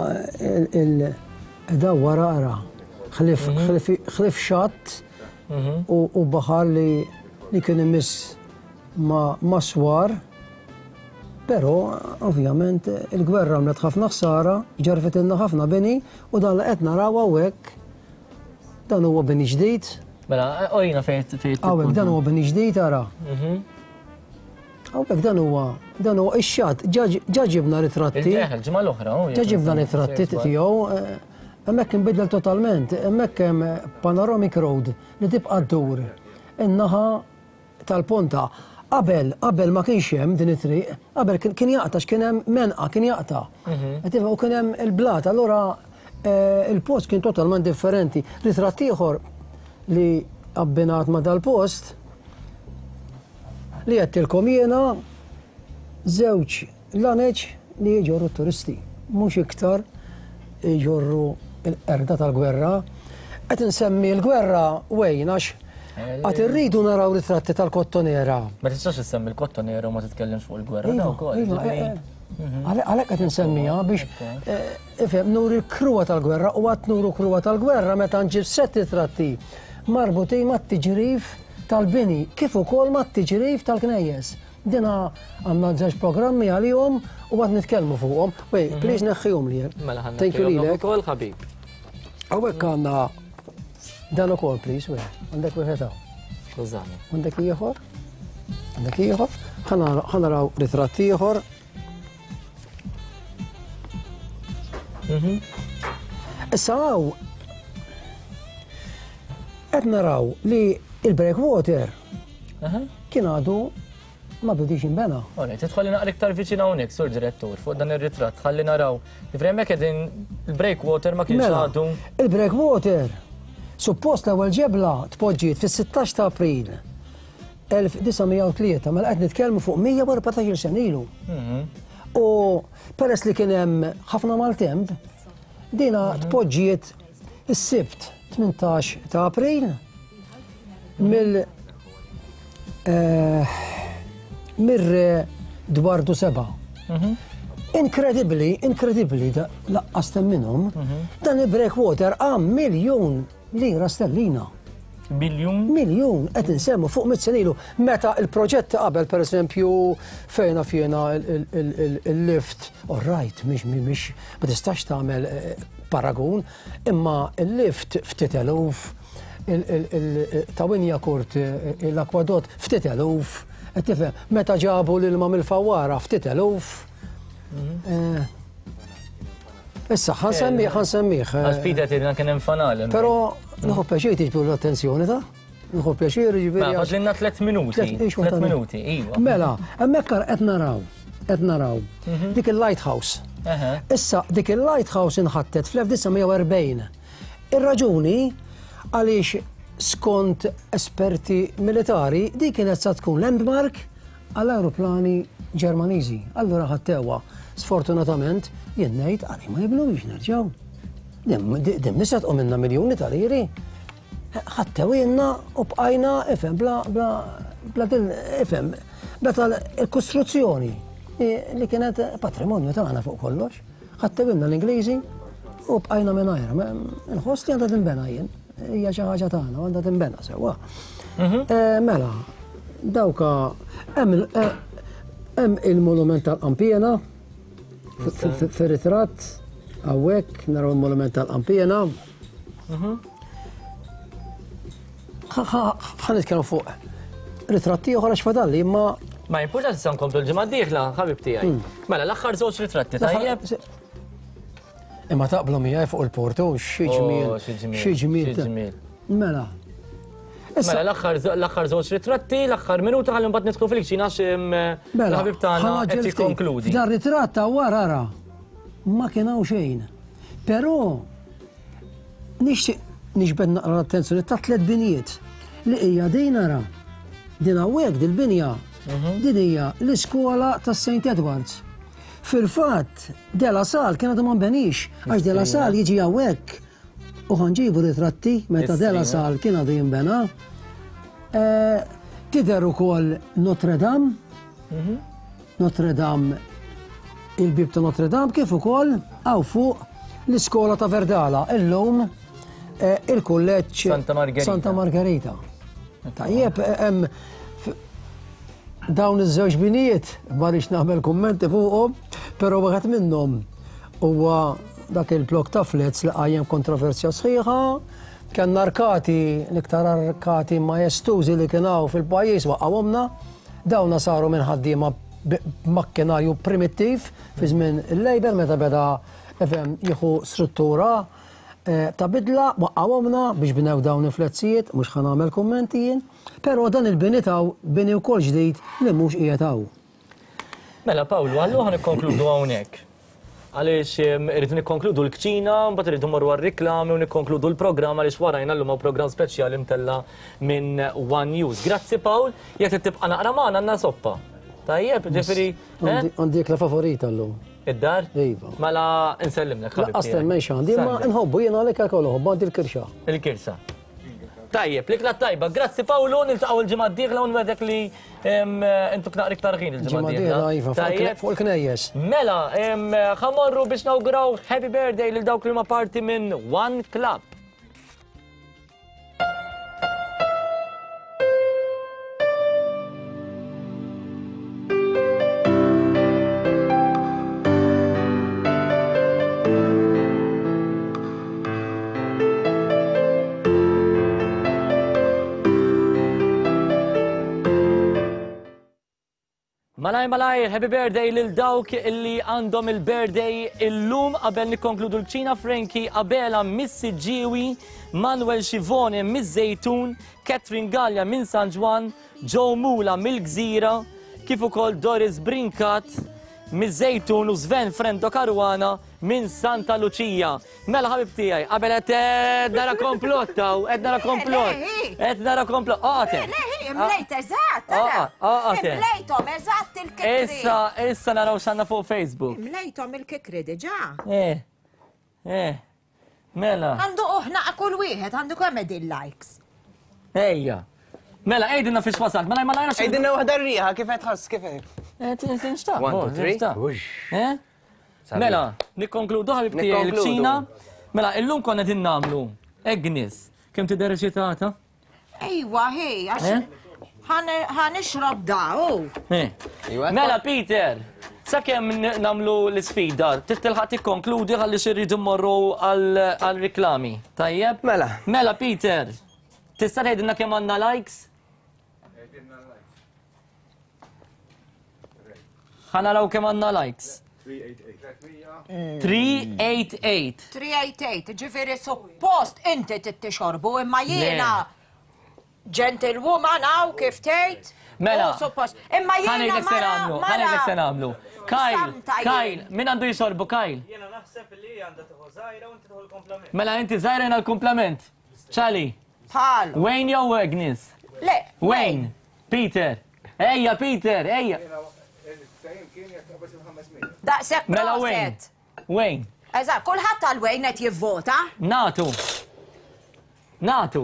il-daw wara ara, ħlif xatt u baħar li kien imiss ma' swar, però ovvjament il-gwerra għamlet ħafna ħsara, ġarfet ilna ħafna bini u dan li qed naraw hawnhekk dan huwa bini ġdid. Mela, orina fejn fejn. Hawnhekk dan huwa bini ġdid ara. Hawnhekk dan huwa dan huwa ix-xatt, ġa ġibna ritratti. Il-ġimgħa l-oħra. Ġa ġibna ritratti tiegħu, hemmhekk inbidel totalment, hemmhekk hemm panoramic road li tibqa' ddur in-naħa tal-ponta. Qabel, qabel ma kienx hemm din it-triq, qabel kien jaqta' x'kien hemm menqa, kien jaqta'. U kien hemm il-blat, allura il-post kien totalment differenti. Ritratt ieħor li abbinat ma' dal-post li għedtilkom jiena żewġ laneċ li jġorru t-turisti, mhux iktar jġorru l-qerda tal-gwerra. Qed insemmi l-gwerra wejn għax għad irridu naraw ritratti tal-Kottonera. Ma tistax issemmi l-Kottonera u ma titkellimx fuq il-gwerra da wkoll. Għalhekk qed insemmiha biex ifhem nuri l-kruwa tal-gwerra u għad nuru kruwa tal-gwerra meta nġib sett ritratti marbutin mat-tiġrif tal-bini kif ukoll mat-tiġrif tal-knejjes. Dina għandna żewġ programmi għalihom u għad nitkellmu fuqhom. Wej, please neħħihom li. Mela ħa neħħihom ukoll ħabib. Hawnhekk għandna dan ukoll, please, wej. Għandek wieħed hawn. Skużani. Għandek ieħor? Għandek ieħor? Ħa naraw ritratt ieħor. Issa hawn qed naraw li il-breakwater kien għadu ma bidix jinbena. Alright, tidħolli naqra iktar viċin hawnhekk, sur direttur, fuq dan ir-ritratt, ħalli naraw. Ġifieri hemmhekk qegħdin il-breakwater ma kienx għadu. Il-breakwater suppost l-ewwel ġebla tpoġġiet fis-sittax ta' April elf disa' mija u tlieta, mela qed nitkellmu fuq mija u erbatax-il sena ilu. U peress li kien hemm ħafna maltemp, dina tpoġġiet is-Sibt tmintax ta' April mill mir-re Dwardu seba'. Inkredibbli, inkredibbli, laqqas temminhom, dan il-breakwater għam miljun lira sterlina. Miljun? Miljun, qed insemmu fuq mitt sena ilu. Meta il-proġett qabel, per eżempju, fejna fjena il-lift, all right, mhix mhix ma tistax tagħmel paragun, imma il-lift ftit eluf, ta' Winjakurt l-akwadott ftit eluf, qed tifhem, meta ġabu l-ilma mill-fawwara ftit eluf. Issa, ħansemmih, ħansemmih. Għax Peter tgħidilna kien hemm fanal. Però nieħu pjaċir tiġbdu l-attenzjoni ta' nieħu pjaċir jiġifieri. Ma fadlilna tliet minuti. Tliet minuti, iva. Mela, hemmhekk qed naraw, qed naraw dik il-lighthouse. Issa, dik il-lighthouse inħattet fl-elf disa' mija u erbgħin. Ir-raġuni għaliex skont esperti militari di kienet sa tkun landmark għall-aeroplani Ġermaniżi. Allura ħattewha. Sfortunatament, jien ngħid għalih ma jibnux nerġgħu. Dim nisa tqum minna miljuni ta' liri. Ħattewilna u bqajna ifhem bla bla bla din ifhem bla tal-kostruzzjoni li kienet patrimonju tagħna fuq kollox. Ħattewilna l-Ingliżi u bqajna mingħajr. Inħoss li għandha tinbena jien. Hija xi ħaġa tagħna għandha tinbena sewwa. Mela, dawka hemm hemm il-monument tal-Qampiena fir-ritratt hawnhekk naraw il-monument tal-Qampiena. Ħa nitkellmu fuq ritratti oħra x'fadalli imma ma jimpurtax issa nkomplu l-ġimgħa d-dieħla, ħabib tiegħi. Mela l-aħħar żewġ ritratti tajjeb. Imma taqblu miegħi fuq il-portu, xi ġmiel, xi ġmiel. Mela. Mela l-aħħar żewġ ritratti, l-aħħar minuta ħalli mbagħad nidħlu fil-kċina għax il-ħabib tagħna qed jikkonkludi. Dan ritratt wara ara ma kien hawn xejn. Però nixtieq niġbed naqra l-attenzjoni ta' tliet binijiet li hija din ara. Din hawnhekk dil-binja din hija l-iskola tas Saint Edwards. Fil-fatt, De La Salle kien għadu ma nbenix, għax De La Salle jiġi hawnhekk u ħanġibu ritratti meta De La Salle kien għadu jinbena. Tidher ukoll Notre Dame, Notre Dame, il-bib ta' Notre Dame, kif ukoll hawn fuq l-iskola ta' Verdala, illum il-kulleġġ Santa Margherita. Tajjeb, hemm dawn iż-żewġ binijiet, ma rridx nagħmel kummenti fuqhom, però wieħed minnhom huwa dak il-blok ta' flats li qajjem kontroversja sħiħa, kellna arkati, l-iktar arkati majestużi li kien hawn fil-pajjiż waqgħuhomna, dawna saru minn ħaddiema b'makkinarju primittiv fi żmien il-Labour meta beda jieħu struttura ta' bidla, waqqawhomna biex bnew dawn il-fletzijiet, mhux ħa nagħmel kummenti jien, però dan il-bini taw bini wkoll ġdid li mhux qiegħed hawn. Mela Pawlu, allura ħa nikkonkludu hawnhekk. Għaliex irridu nikkonkludu l-kċina, mbagħad irridu mmorru għar-riklami u nikkonkludu l-programm għaliex warajna llum hawn programm speċjali mtella minn One News. Grazzi Pawl, jekk trid tibqa' naqra magħna għandna soppa. Tajjeb, ġifieri. Għandi ikla favorita llum. Id-dar? Iva. Mela nsellimlek ħabib. Laqqas temmen x'għandi, imma nħobbu jiena għalhekk għal nħobbu għandi l-kirxa. Il-kirxa. Tajjeb, l-ikla tajba. Grazzi Pawlu, niltaqgħu l-ġimgħa d-dieħla u nwedek li intuk naqra iktar ħin il-ġimgħa d-dieħla. Iva, fuq il-knejjes. Mela, ħamorru biex nawguraw happy birthday lil dawk li huma parti minn One Club. Malaj, malaj, happy birthday lil dawk illi għandhom il-birthday illum qabel nikkonkludu l-kċina Frankie Abela Missi Ġiwi, Manuel Schivone miż-Żejtun, Catherine Gallia minn San Ġwann, Joe Mula mill-Gżira, kif ukoll Doris Brincat miż-Żejtun u Sven Frendo Caruana minn Santa Lucia. Mela ħabib tiegħi, qabel qed nara komplott hawn, qed nara komplott. Qed nara komplott. Oqgħod. Imlejt eżatt. Imlejthom eżatt il-kikri. Issa, issa naraw x'għandna fuq Facebook. Imlejthom il-kikri diġà. Eh. Eh. Mela. Għandu oħna kull wieħed, għandu kemm qegħdin likes. Ejja. Mela, għidilna fiex wasalt, mela mela għajna Għidilna waħda r-riħa, kif qed tħoss, kif qed? Eh, tinxtaq. One, two, three. Eh? Mela, nikkonkludu ħabib tiegħi il-kċina. Mela, illum konna din nagħmlu Agnes, kemm tidher eċitata? Ejwa, hi, għax ħa nixrob da, u. Mela, Peter, sakemm nagħmlu l-isfida, titilħaq tikkonkludi ħalli xi rridu mmorru għal-riklami. Tajjeb? Mela. Mela, Peter, tista' tgħidilna kemm għandna likes? Ħa naraw kemm għandna likes. three eight eight. three eight eight, ġifieri suppost inti tixorbu imma jiena gentlewoman hawn kif tgħid. Mela. Suppost. Imma jiena mara. Ħa ngħidlek se nagħmlu. Kyle, Kyle, min għandu jixorbu Kyle? Jiena naħseb li għandha tieħu żgħira u inti tieħu l-komplament. Mela inti żgħira jiena l-komplament. Charlie. Bħal. Wayne jew Agnes? Le. Wayne. Peter. Ejja Peter, ejja. Daqshekk Mela Wayne. Wayne. Eżatt, kulħadd għal Wayne qed jivvota. Natu. Natu.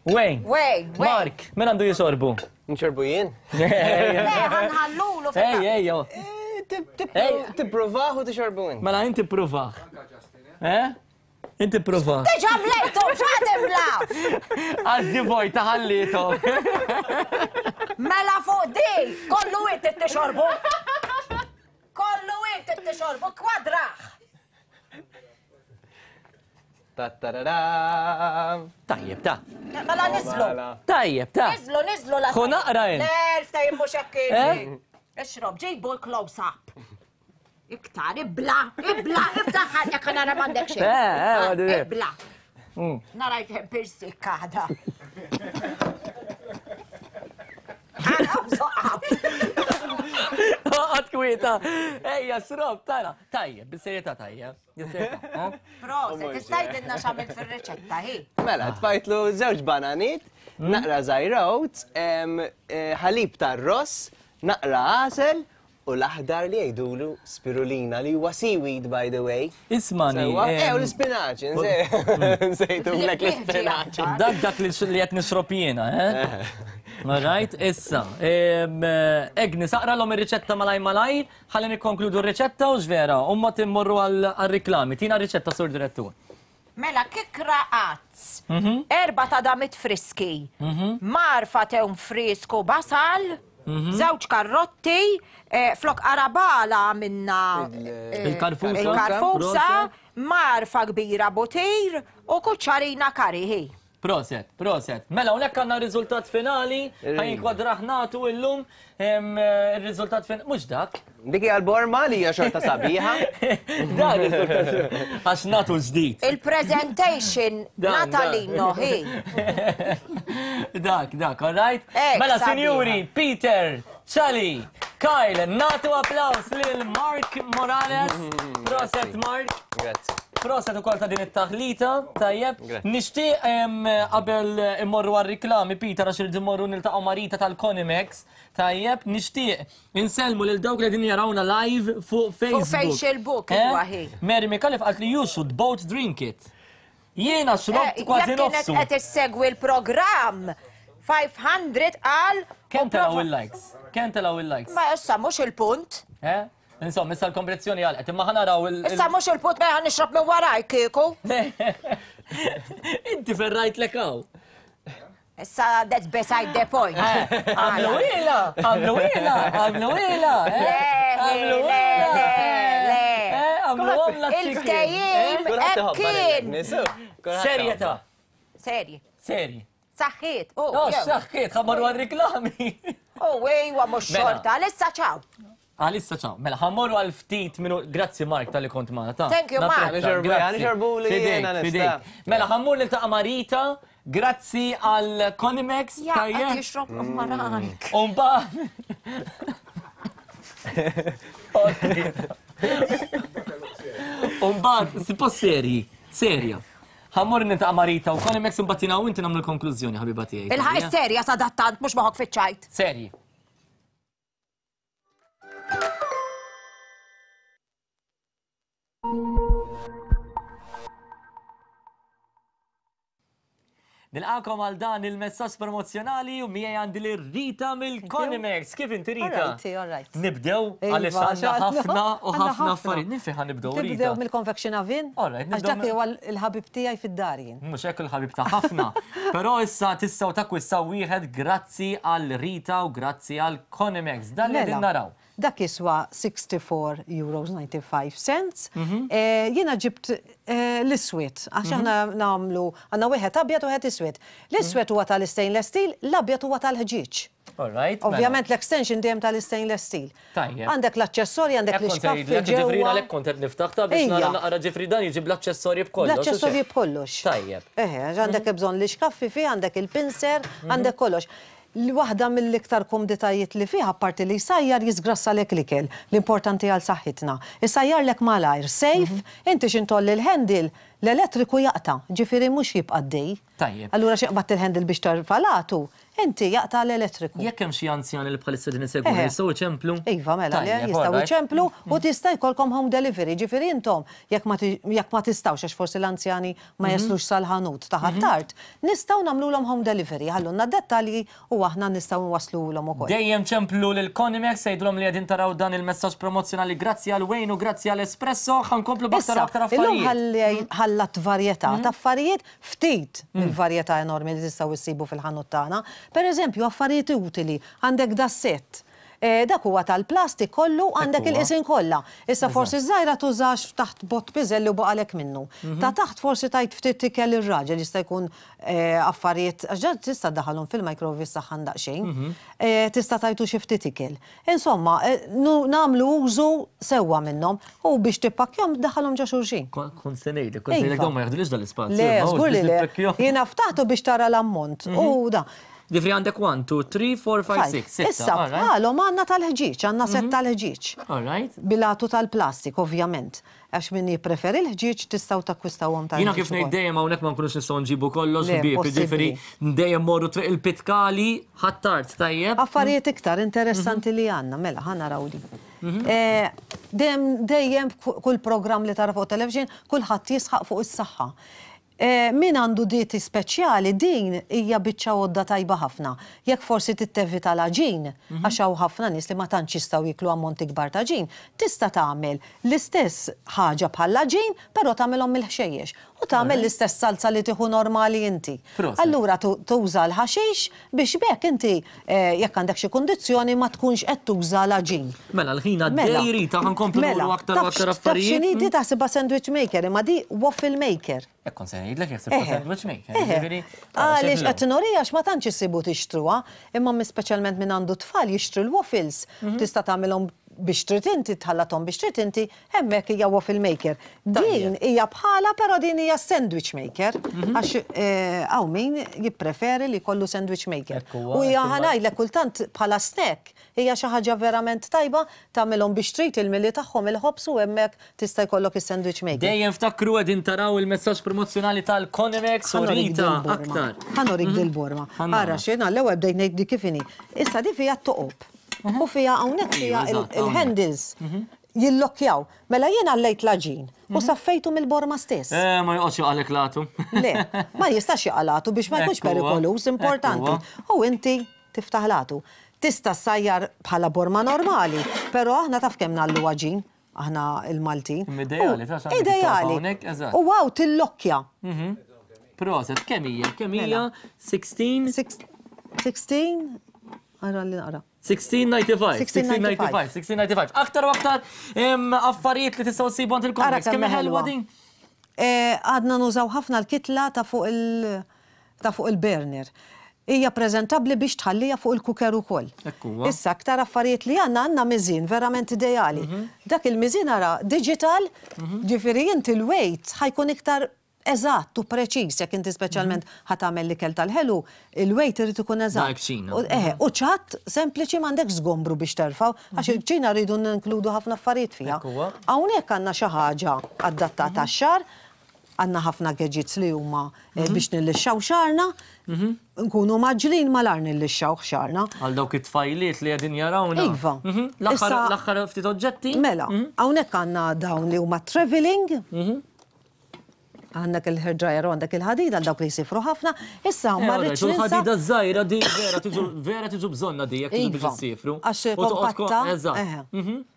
Wayne. Wayne. Mark, min għandu jisorbu? Nxorbu jien? Le, ħanħallulu Ej, ej, Tipprovah u tixorbu int. Mela inti provah. Eh? Inti provah. Diġà mlejtu, x'għad imla? Għazzi vojta ħallietom. Mela fuq di, kollu inti tixorbu. Kollu inti tixorbu, kwadraħ. Tajjeb, ta. Mela niżlu. Tajjeb, ta. Niżlu, niżlu la. Ħu naqra int. Le, ftehim mhux hekk kien. Ixrob, ġibu l-close up. Iktar, ibla, ibla, ibda ħalja kan nara m'għandek xejn. Eh, eh, Ibla. Nara jkemm pirsik għada. Għad kwieta. Ejja, xrob, tara. Tajjeb, bis-serjetà tajjeb. Proset, tista' tgħidilna x'għamilt fir-riċetta hi. Mela, tfajtlu żewġ bananit, naqra żgħira oats, ħalib tar-ross, naqra għasel, u l-aħdar li jgħidulu spirulina li huwa seaweed by the way. Ismani. Eh, u l-spinaċ, nsejtulek l-spinaċ. Dak dak li qed nixrob jiena, eh? All right, issa. Agnes, aqralhom ir-riċetta malaj malaj, ħalli nikkonkludu r-riċetta u x'vera, u mbagħad immorru għal-riklami. Tina r-riċetta, Sur Direttur. Mela, kikra għazz, erba ta' damit friski, marfa tewn frisku basal, żewġ karrotti, flok arabala minna il-karfusa, il-karfusa, marfa kbira butir u kuċċarina kariħi. Proset, proset. Mela, hawnhekk għandna r-riżultat finali, ħajnkwadraħnatu illum ir-riżultat finali, mhux dak. Dik hija l-borma li hija xorta sabiħa. Dan ir-riżultat għax natu ġdid. Il-presentation Natalino hi. Dak, dak, all right? Mela, sinjuri, Peter, Charlie, Kyle, natu applaus lil Mark Morales. Proset, Mark. Grazie. Proset ukoll ta' din it-taħlita, tajjeb. Nixtieq qabel immorru għar-riklami, Peter, għax irridu mmorru niltaqgħu Marita tal-Conimex, tajjeb, nixtieq insellmu lil dawk li qegħdin jarawna live fuq Facebook. Fuq Facebook, iwa hi. Mary Micallef qalt li you should both drink it. Jiena xrobt kważi nofsu. Jekk kienet qed issegwi l-programm five hundred għal. Kemm telgħu il-likes? Kemm telgħu il-likes? Ma issa mhux il-punt. Eh? Insomma, issa l-kompetizzjoni għalqet, imma ħa naraw il- Issa mhux il-punt mela ħa nixrob minn waraj kieku. Inti ferrajt lek hawn. Issa that's beside the point. Għamlu ila, għamlu ila, għamlu ila. Le, le, le, le. Għamlu għamla Il-ftehim hekk kien. Serjetà. Serji. Serji. Saħħiet. Oh, saħħiet, ħa mmorru għar-riklami. Oh, ejwa mhux xorta, għalissa ċaw. Għalissa ċaw. Mela, ħammorru għal ftit minu. Grazzi Mark tal-li kont magħna. Ta. Thank you, Mark. Fidejk. Mela, ħammur niltaqa' Marita. Grazzi għal Conimex. Ja, qed jixrob marank. Umba. Umbagħad, suppost serji, serja. Ħammur niltaqa' Marita u Conimex imbagħad jiena u inti nagħmlu l-konklużjoni, ħabiba tiegħi. Il-ħaq serja sadattant mhux moħok fiċ-ċajt. Serji. Nilqakom għal dan il-messaġġ promozzjonali u miegħi għandi lil Rita mill-Conimex. Kif inti Rita? Alright, alright. Nibdew għaliex għandna ħafna u ħafna affarijiet. Minn fejn ħa nibdew Rita? Nibdew mill-confection oven. Alright, Għax dak huwa il-ħabib tiegħi fid-dar jien. Mhux hekk il-ħabib ta' ħafna. Però issa tistgħu takkwistaw wieħed grazzi għal Rita u grazzi għal Conimex. Dan li qegħdin naraw. Dak jiswa sixty-four euros ninety-five cents. Jiena ġibt l-iswed, għax aħna nagħmlu għandna wieħed abjad u wieħed iswed. L-iswed huwa tal-stainless steel, l-abjad huwa tal-ħġieġ. Alright. Ovvjament l-extension dejjem tal-stainless steel. Tajjeb. Għandek l-aċċessorji, għandek l-ixkaffi Ġifieri ġewwa. Għalhekk kont qed niftaħ ta' biex nara naqra, ġifieri dan jiġi bl-aċċessorji b'kollox. L-aċċessorji b'kollox. Tajjeb. Eħe, għandek bżonn l-ixkaffi fih, għandek il-pincer, għandek kollox. L-waħda mill-iktar komditajiet li fih, apparti li jsajjar, jisgrassalek l-ikel, l-importanti għal saħħitna. Isajjarlek malajr, safe, inti x'ħin tgħolli l-handle, l-elettriku jaqta', ġifieri mhux jibqa' dej. Tajjeb. Allura xi qbadt il-handle biex tarfa' l-għatu, inti jaqta' l-elettriku. Jekk hemm xi anzjani li bħalissa din isegwu, jistgħu jċemplu? Iva, mela, le, jistgħu jċemplu u tista' jkollkom home delivery, ġifieri intom jekk ma jekk ma tistgħux, għax forsi l-anzjani ma mhm. jaslux sal-ħanut ta' mhm. tard, nistgħu nagħmluhom home delivery, ħallulna dettalji u aħna nistgħu nwaslulhom ukoll. Dejjem ċemplu lil Conimex, għidulhom li qegħdin taraw dan il-messaġġ promozzjonali grazzi għal Wayne u grazzi għal Espresso, ħa nkomplu b'aktar aktar affarijiet. Illum ħallat varjetà ta' affarijiet, ftit mill-varjetà enormi li tistgħu issibu fil-ħanut tagħna. Per eżempju, affarijiet utili, għandek da set. Eh, dak huwa tal-plastik kollu, għandek il-qisin kollha. Issa forsi żgħira tużax taħt bott piżelli u baqalek minnu. Mhm. Ta' taħt forsi tajt ftit ikel ir-raġel, jista' jkun eh, affarijiet għax tista' daħalhom fil-microwave saħħan daqsxejn. Mhm. Eh, tista' tajtu xi ftit ikel. Insomma, nagħmlu użu sewwa minnhom u biex tippakkjahom daħalhom ġo xulxin. Kont se ngħidlek, kont se ngħidlek dawn ma jaħdulix dal-ispazju. Le, żgur li le. Jiena ftaħtu biex tara l-ammont. Mhm. U da. Ġifieri għandek one, two, three, four, five, six. Issa, għalhom għandna tal-ħġieġ, għandna set mhm. tal-ħġieġ. Alright. Bil-għatu tal-plastik, ovvjament. Għax min jippreferi l-ħġieġ, tistgħu takkwistawhom tal. Jiena kif ngħid dejjem, hawnhekk ma nkunux nistgħu nġibu kollox, ħbieb, ġifieri dejjem morru Triq il-Pitkali, Ħ'Attard, tajjeb. Affarijiet iktar interessanti li għandna, mela, ħa naraw di. Mhm. Eh, dejjem dejjem kull programm li tara fuq television, kulħadd jisħaq fuq is-saħħa. Eh, min għandu dieti speċjali, din hija biċċa għodda tajba ħafna. Jekk forsi tittevita l-għaġin, mhm. għax hawn ħafna nies li ma tantx jistgħu jiklu ammonti kbar ta' għaġin, tista' tagħmel l-istess ħaġa bħall-għaġin, però tagħmelhom mill-ħxejjex. U tagħmel l-istess salza li tieħu normali inti. Allura tuża l-ħaxix biex b'hekk inti eh, jekk għandek xi kundizzjoni ma tkunx qed tuża l-għaġin. Mela l-ħin għaddej, Rita, ħa nkomplu mela, aktar aktar affarijiet. Taf x'inhi? Taħsibha sandwich maker, imma di waffle maker. Ekkon se ngħidlek jekk sibta sandwich maker. Għaliex qed nurija, għax ma tantx issibu tixtruha, imma speċjalment min għandu tfal jixtru l-waffles. Mhm. Tista' tagħmilhom biex trid inti, tħallathom biex trid inti, hemmhekk hija waffle maker. Din hija bħala, però din hija sandwich maker, mhm. għax eh, hawn min jippreferi li jkollu sandwich maker. U hija, ħa ngħidlek, kultant bħala snack hija xi ħaġa verament tajba, tagħmilhom biex trid il-mili tagħhom il-ħobż u hemmhekk tista' jkollok is-sandwich maker. Dejjem ftakru, qegħdin taraw il-messaġġ promozzjonali tal-Conimex u Rita aktar. Ħa nurik mhm. dil-borma. Ara xejn, l-ewwel bdejt ngħid di kif inhi. Issa di fiha toqob. U fiha hawnhekk fiha il-handles mhm. jillokkjaw. Mela jien għallejt l-għaġin u mhm. saffejtu mill-borma stess. Eh, ma joqgħodx jaqgħalek l-għatu. Le, ma jistax jaqa' l-għatu biex ma jkunx perikoluż, importanti. U inti tiftaħ l-għatu. Tista' ssajjar bħala borma normali, però aħna taf kemm ngħallu għaġin, aħna il-Maltin. Ideali, ta' Ideali. U wow, tillokkja. Mhm. Proset, kemm hija? Kemm hija? sittax? sittax, ara li naqra. sixteen ninety-five. sixteen ninety-five. sixteen ninety-five. Aktar u aktar affarijiet li tistgħu ssibu għand il-Conimex. Kemm ħelwa din? Eh, għadna nużaw ħafna l-kitla ta' fuq il- ta' fuq il-burner. Hija preżentabbli biex tħallija fuq il-cooker ukoll. Issa aktar affarijiet li għandna, għandna miżin verament ideali. Mhm. Dak il-miżin, ara, digital, mhm. ġifieri inti l-weight ħa jkun iktar eżatt u preċiż jekk inti speċjalment ħa tagħmel l-ikel tal-ħelu, il-weight irid ikun eżatt. Eħe, u ċatt sempliċi, m'għandek żgombru biex terfgħu, għax mhm. il-kċina rridu ninkludu ħafna affarijiet fiha. Hawnhekk għandna xi ħaġa adattata għax-xagħar, għandna ħafna gadgets li huma eh, mhm. biex nillixxaw xagħarna, mhm. nkunu mgħaġġlin malajr nillixxaw xagħarna. Għal dawk it-tfajliet li qegħdin jarawna. Iva. L-aħħar ftit oġġetti. Mela, hawnhekk għandna dawn li huma traveling. Għandek il-hair dryer u għandek il-ħadida għal dawk li jsifru ħafna. Issa ma rridx ninsa. Il-ħadida żgħira di vera tiġu vera tiġu bżonna di jekk tiġu biex issifru. Għax kompatta. Eżatt.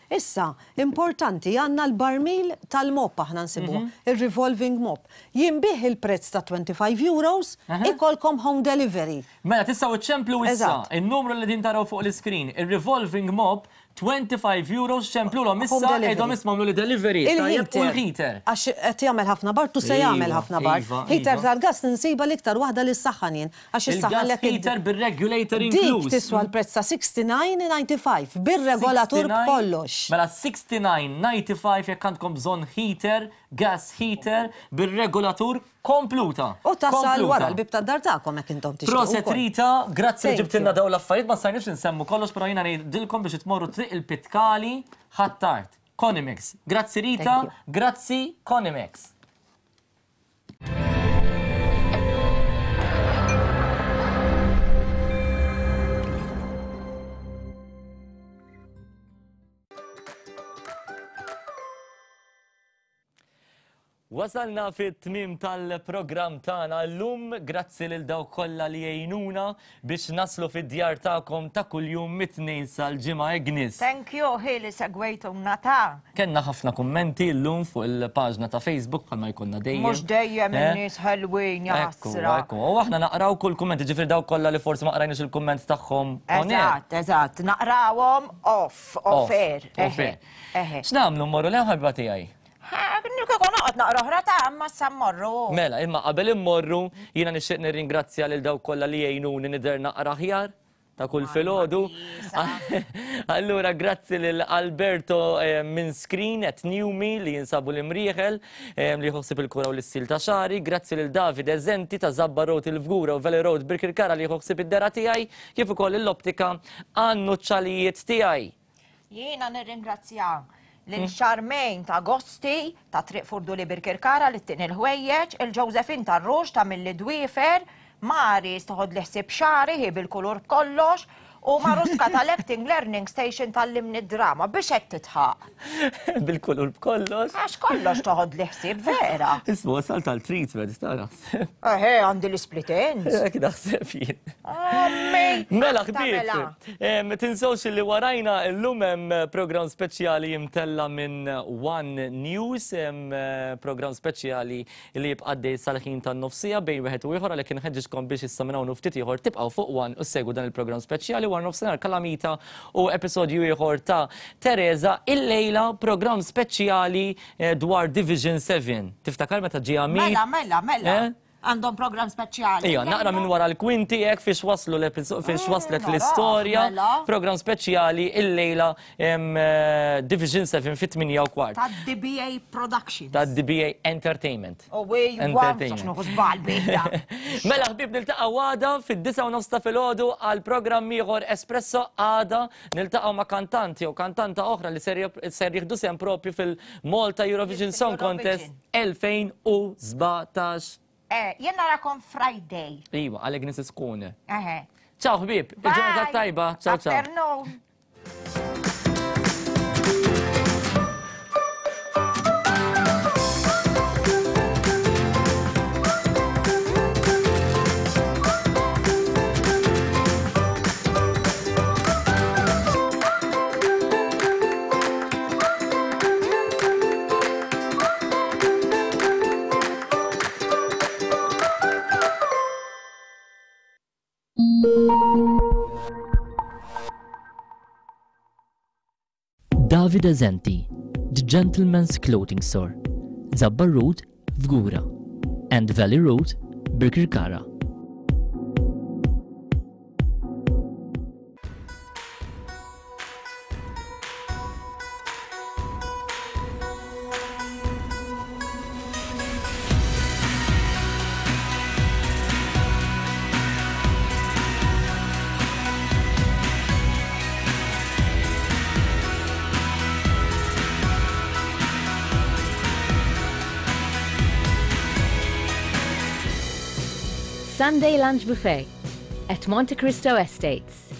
Issa, importanti, għandna l-barmil tal-mop aħna nsibuh, il-revolving mop. Jinbih il-prezz ta' twenty-five euros, ikolkom home delivery. Mela, tistgħu iċċemplu issa, il-numru li din taraw fuq l-iskrin, il-revolving mop, twenty-five euros, ċemplulhom issa, għidhom isma' li delivery. Il-heater. Għax qed jagħmel ħafna bard u se jagħmel ħafna bard. Heater tal-gas ninsiba l-iktar waħda li s-saħħan jien. Għax is-saħħan heater bir-regulator inkluż. Dik tiswa l-prezz ta' sixty-nine ninety-five bir-regolatur b'kollox. Mela sixty-nine ninety-five jekk għandkom bżonn heater, gas heater bir-regolatur kompluta. U tasal wara l-bib tad-dar tagħkom jekk intom tixtiequ. Proset Rita, grazzi li ġibtilna dawn l-affarijiet, ma stajniex insemmu kollox, però jiena ngħidilkom biex tmorru triq il-Pitkali Ħ'Attard. Conimex. Grazzi Rita, grazzi Conimex. Wasalna fit-tmiem tal-programm tagħna llum, grazzi lil dawk kollha li jgħinuna biex naslu fid-djar tagħkom ta' kuljum mit-tnejn sal-ġimgħa Agnes. Thank you ħili segwejtuna ta'. Kenna ħafna kummenti llum fuq il-paġna ta' Facebook bħalma jkollna dejjem. Mhux dejjem in-nies ħelwin jaħsra. Ekku, u aħna naqraw kull kumment, ġifieri dawk kollha li forsi ma qrajniex il-kumment tagħhom. Eżatt, eżatt, naqrawhom off, off air. Off air. X'nagħmlu mmorru le ħabba tiegħi? Kieku noqgħod naqra oħra ta' imma issa mmorru. Mela, imma qabel immorru jiena nixtieq nirringrazzja lil dawk kollha li jgħinuni nidher naqra aħjar ta' kull filgħodu. Allura grazzi lil Alberto minn Screen at Newmi li jinsabu l-Imrieħel li jħossib il-kura u l-istil ta' xari, grazzi lil David Eżenti ta' Zabba Road il-Fgura u Valley Road Birkirkara li jħossib id-dera tiegħi, kif ukoll l-optika għan-nuċċalijiet tiegħi. Jiena nirringrazzja lil Charmaine ta' Gosti ta' Triq Furduli Birkirkara li t-tin il-ħwejjeġ, il-Josephine ta' Rux ta' Milli Dwiefer, Maris toħod li ħsieb xari hi bil-kulur b'kollox, u Maruska tal-Acting Learning Station tal-limni drama biex qed titħaq. Bil-kulur b'kollox? Għax kollox toħod li ħsieb vera. Ismu wasal tal-treatment, ta' naħseb. Eħe, għandi l-split ends. Hekk naħseb jien. Ammi! Mela ħbieb, tinsewx li warajna llum hemm programm speċjali jimtella minn One News, hemm programm speċjali li jibqa' għaddej sal-ħin tan-nofsija bejn wieħed u ieħor, għalhekk inħeġġiġkom biex issa minn hawn u ftit ieħor tibqgħu fuq One u ssegwu dan il-programm speċjali. War nofsinhar Kalamita u episodju ieħor ta' Teresa, illejla programm speċjali dwar Division seven. Tiftakar meta ġie Amir? Mela, mela, mela. Għandhom programm speċjali. Ija, naqra minn wara l-kwinti hekk fiex waslu fiex waslet l-istorja. Programm speċjali illejla Division seven fit-tmienja u kwart. Ta' D B A Productions. Ta' D B A Entertainment. U wej, Mela ħbieb niltaqgħu għada fid-disgħa u nofs ta' filgħodu għal programm ieħor Espresso. Għada niltaqgħu ma' kantanti jew kantanta oħra li ser jieħdu sehem propju fil-Malta Eurovision Song Contest elfejn u sbatax. Eh, jien narakom Friday. Iva, għalek Agnes Skune. Eħe. Ciao ħbieb, il-ġurnata tajba. Ciao ciao. Afternoon. David Eżenti, The Gentleman's Clothing Store, Zabbar Road, Fgura, and Valley Road, Birkirkara. Sunday Lunch Buffet at Monte Cristo Estates.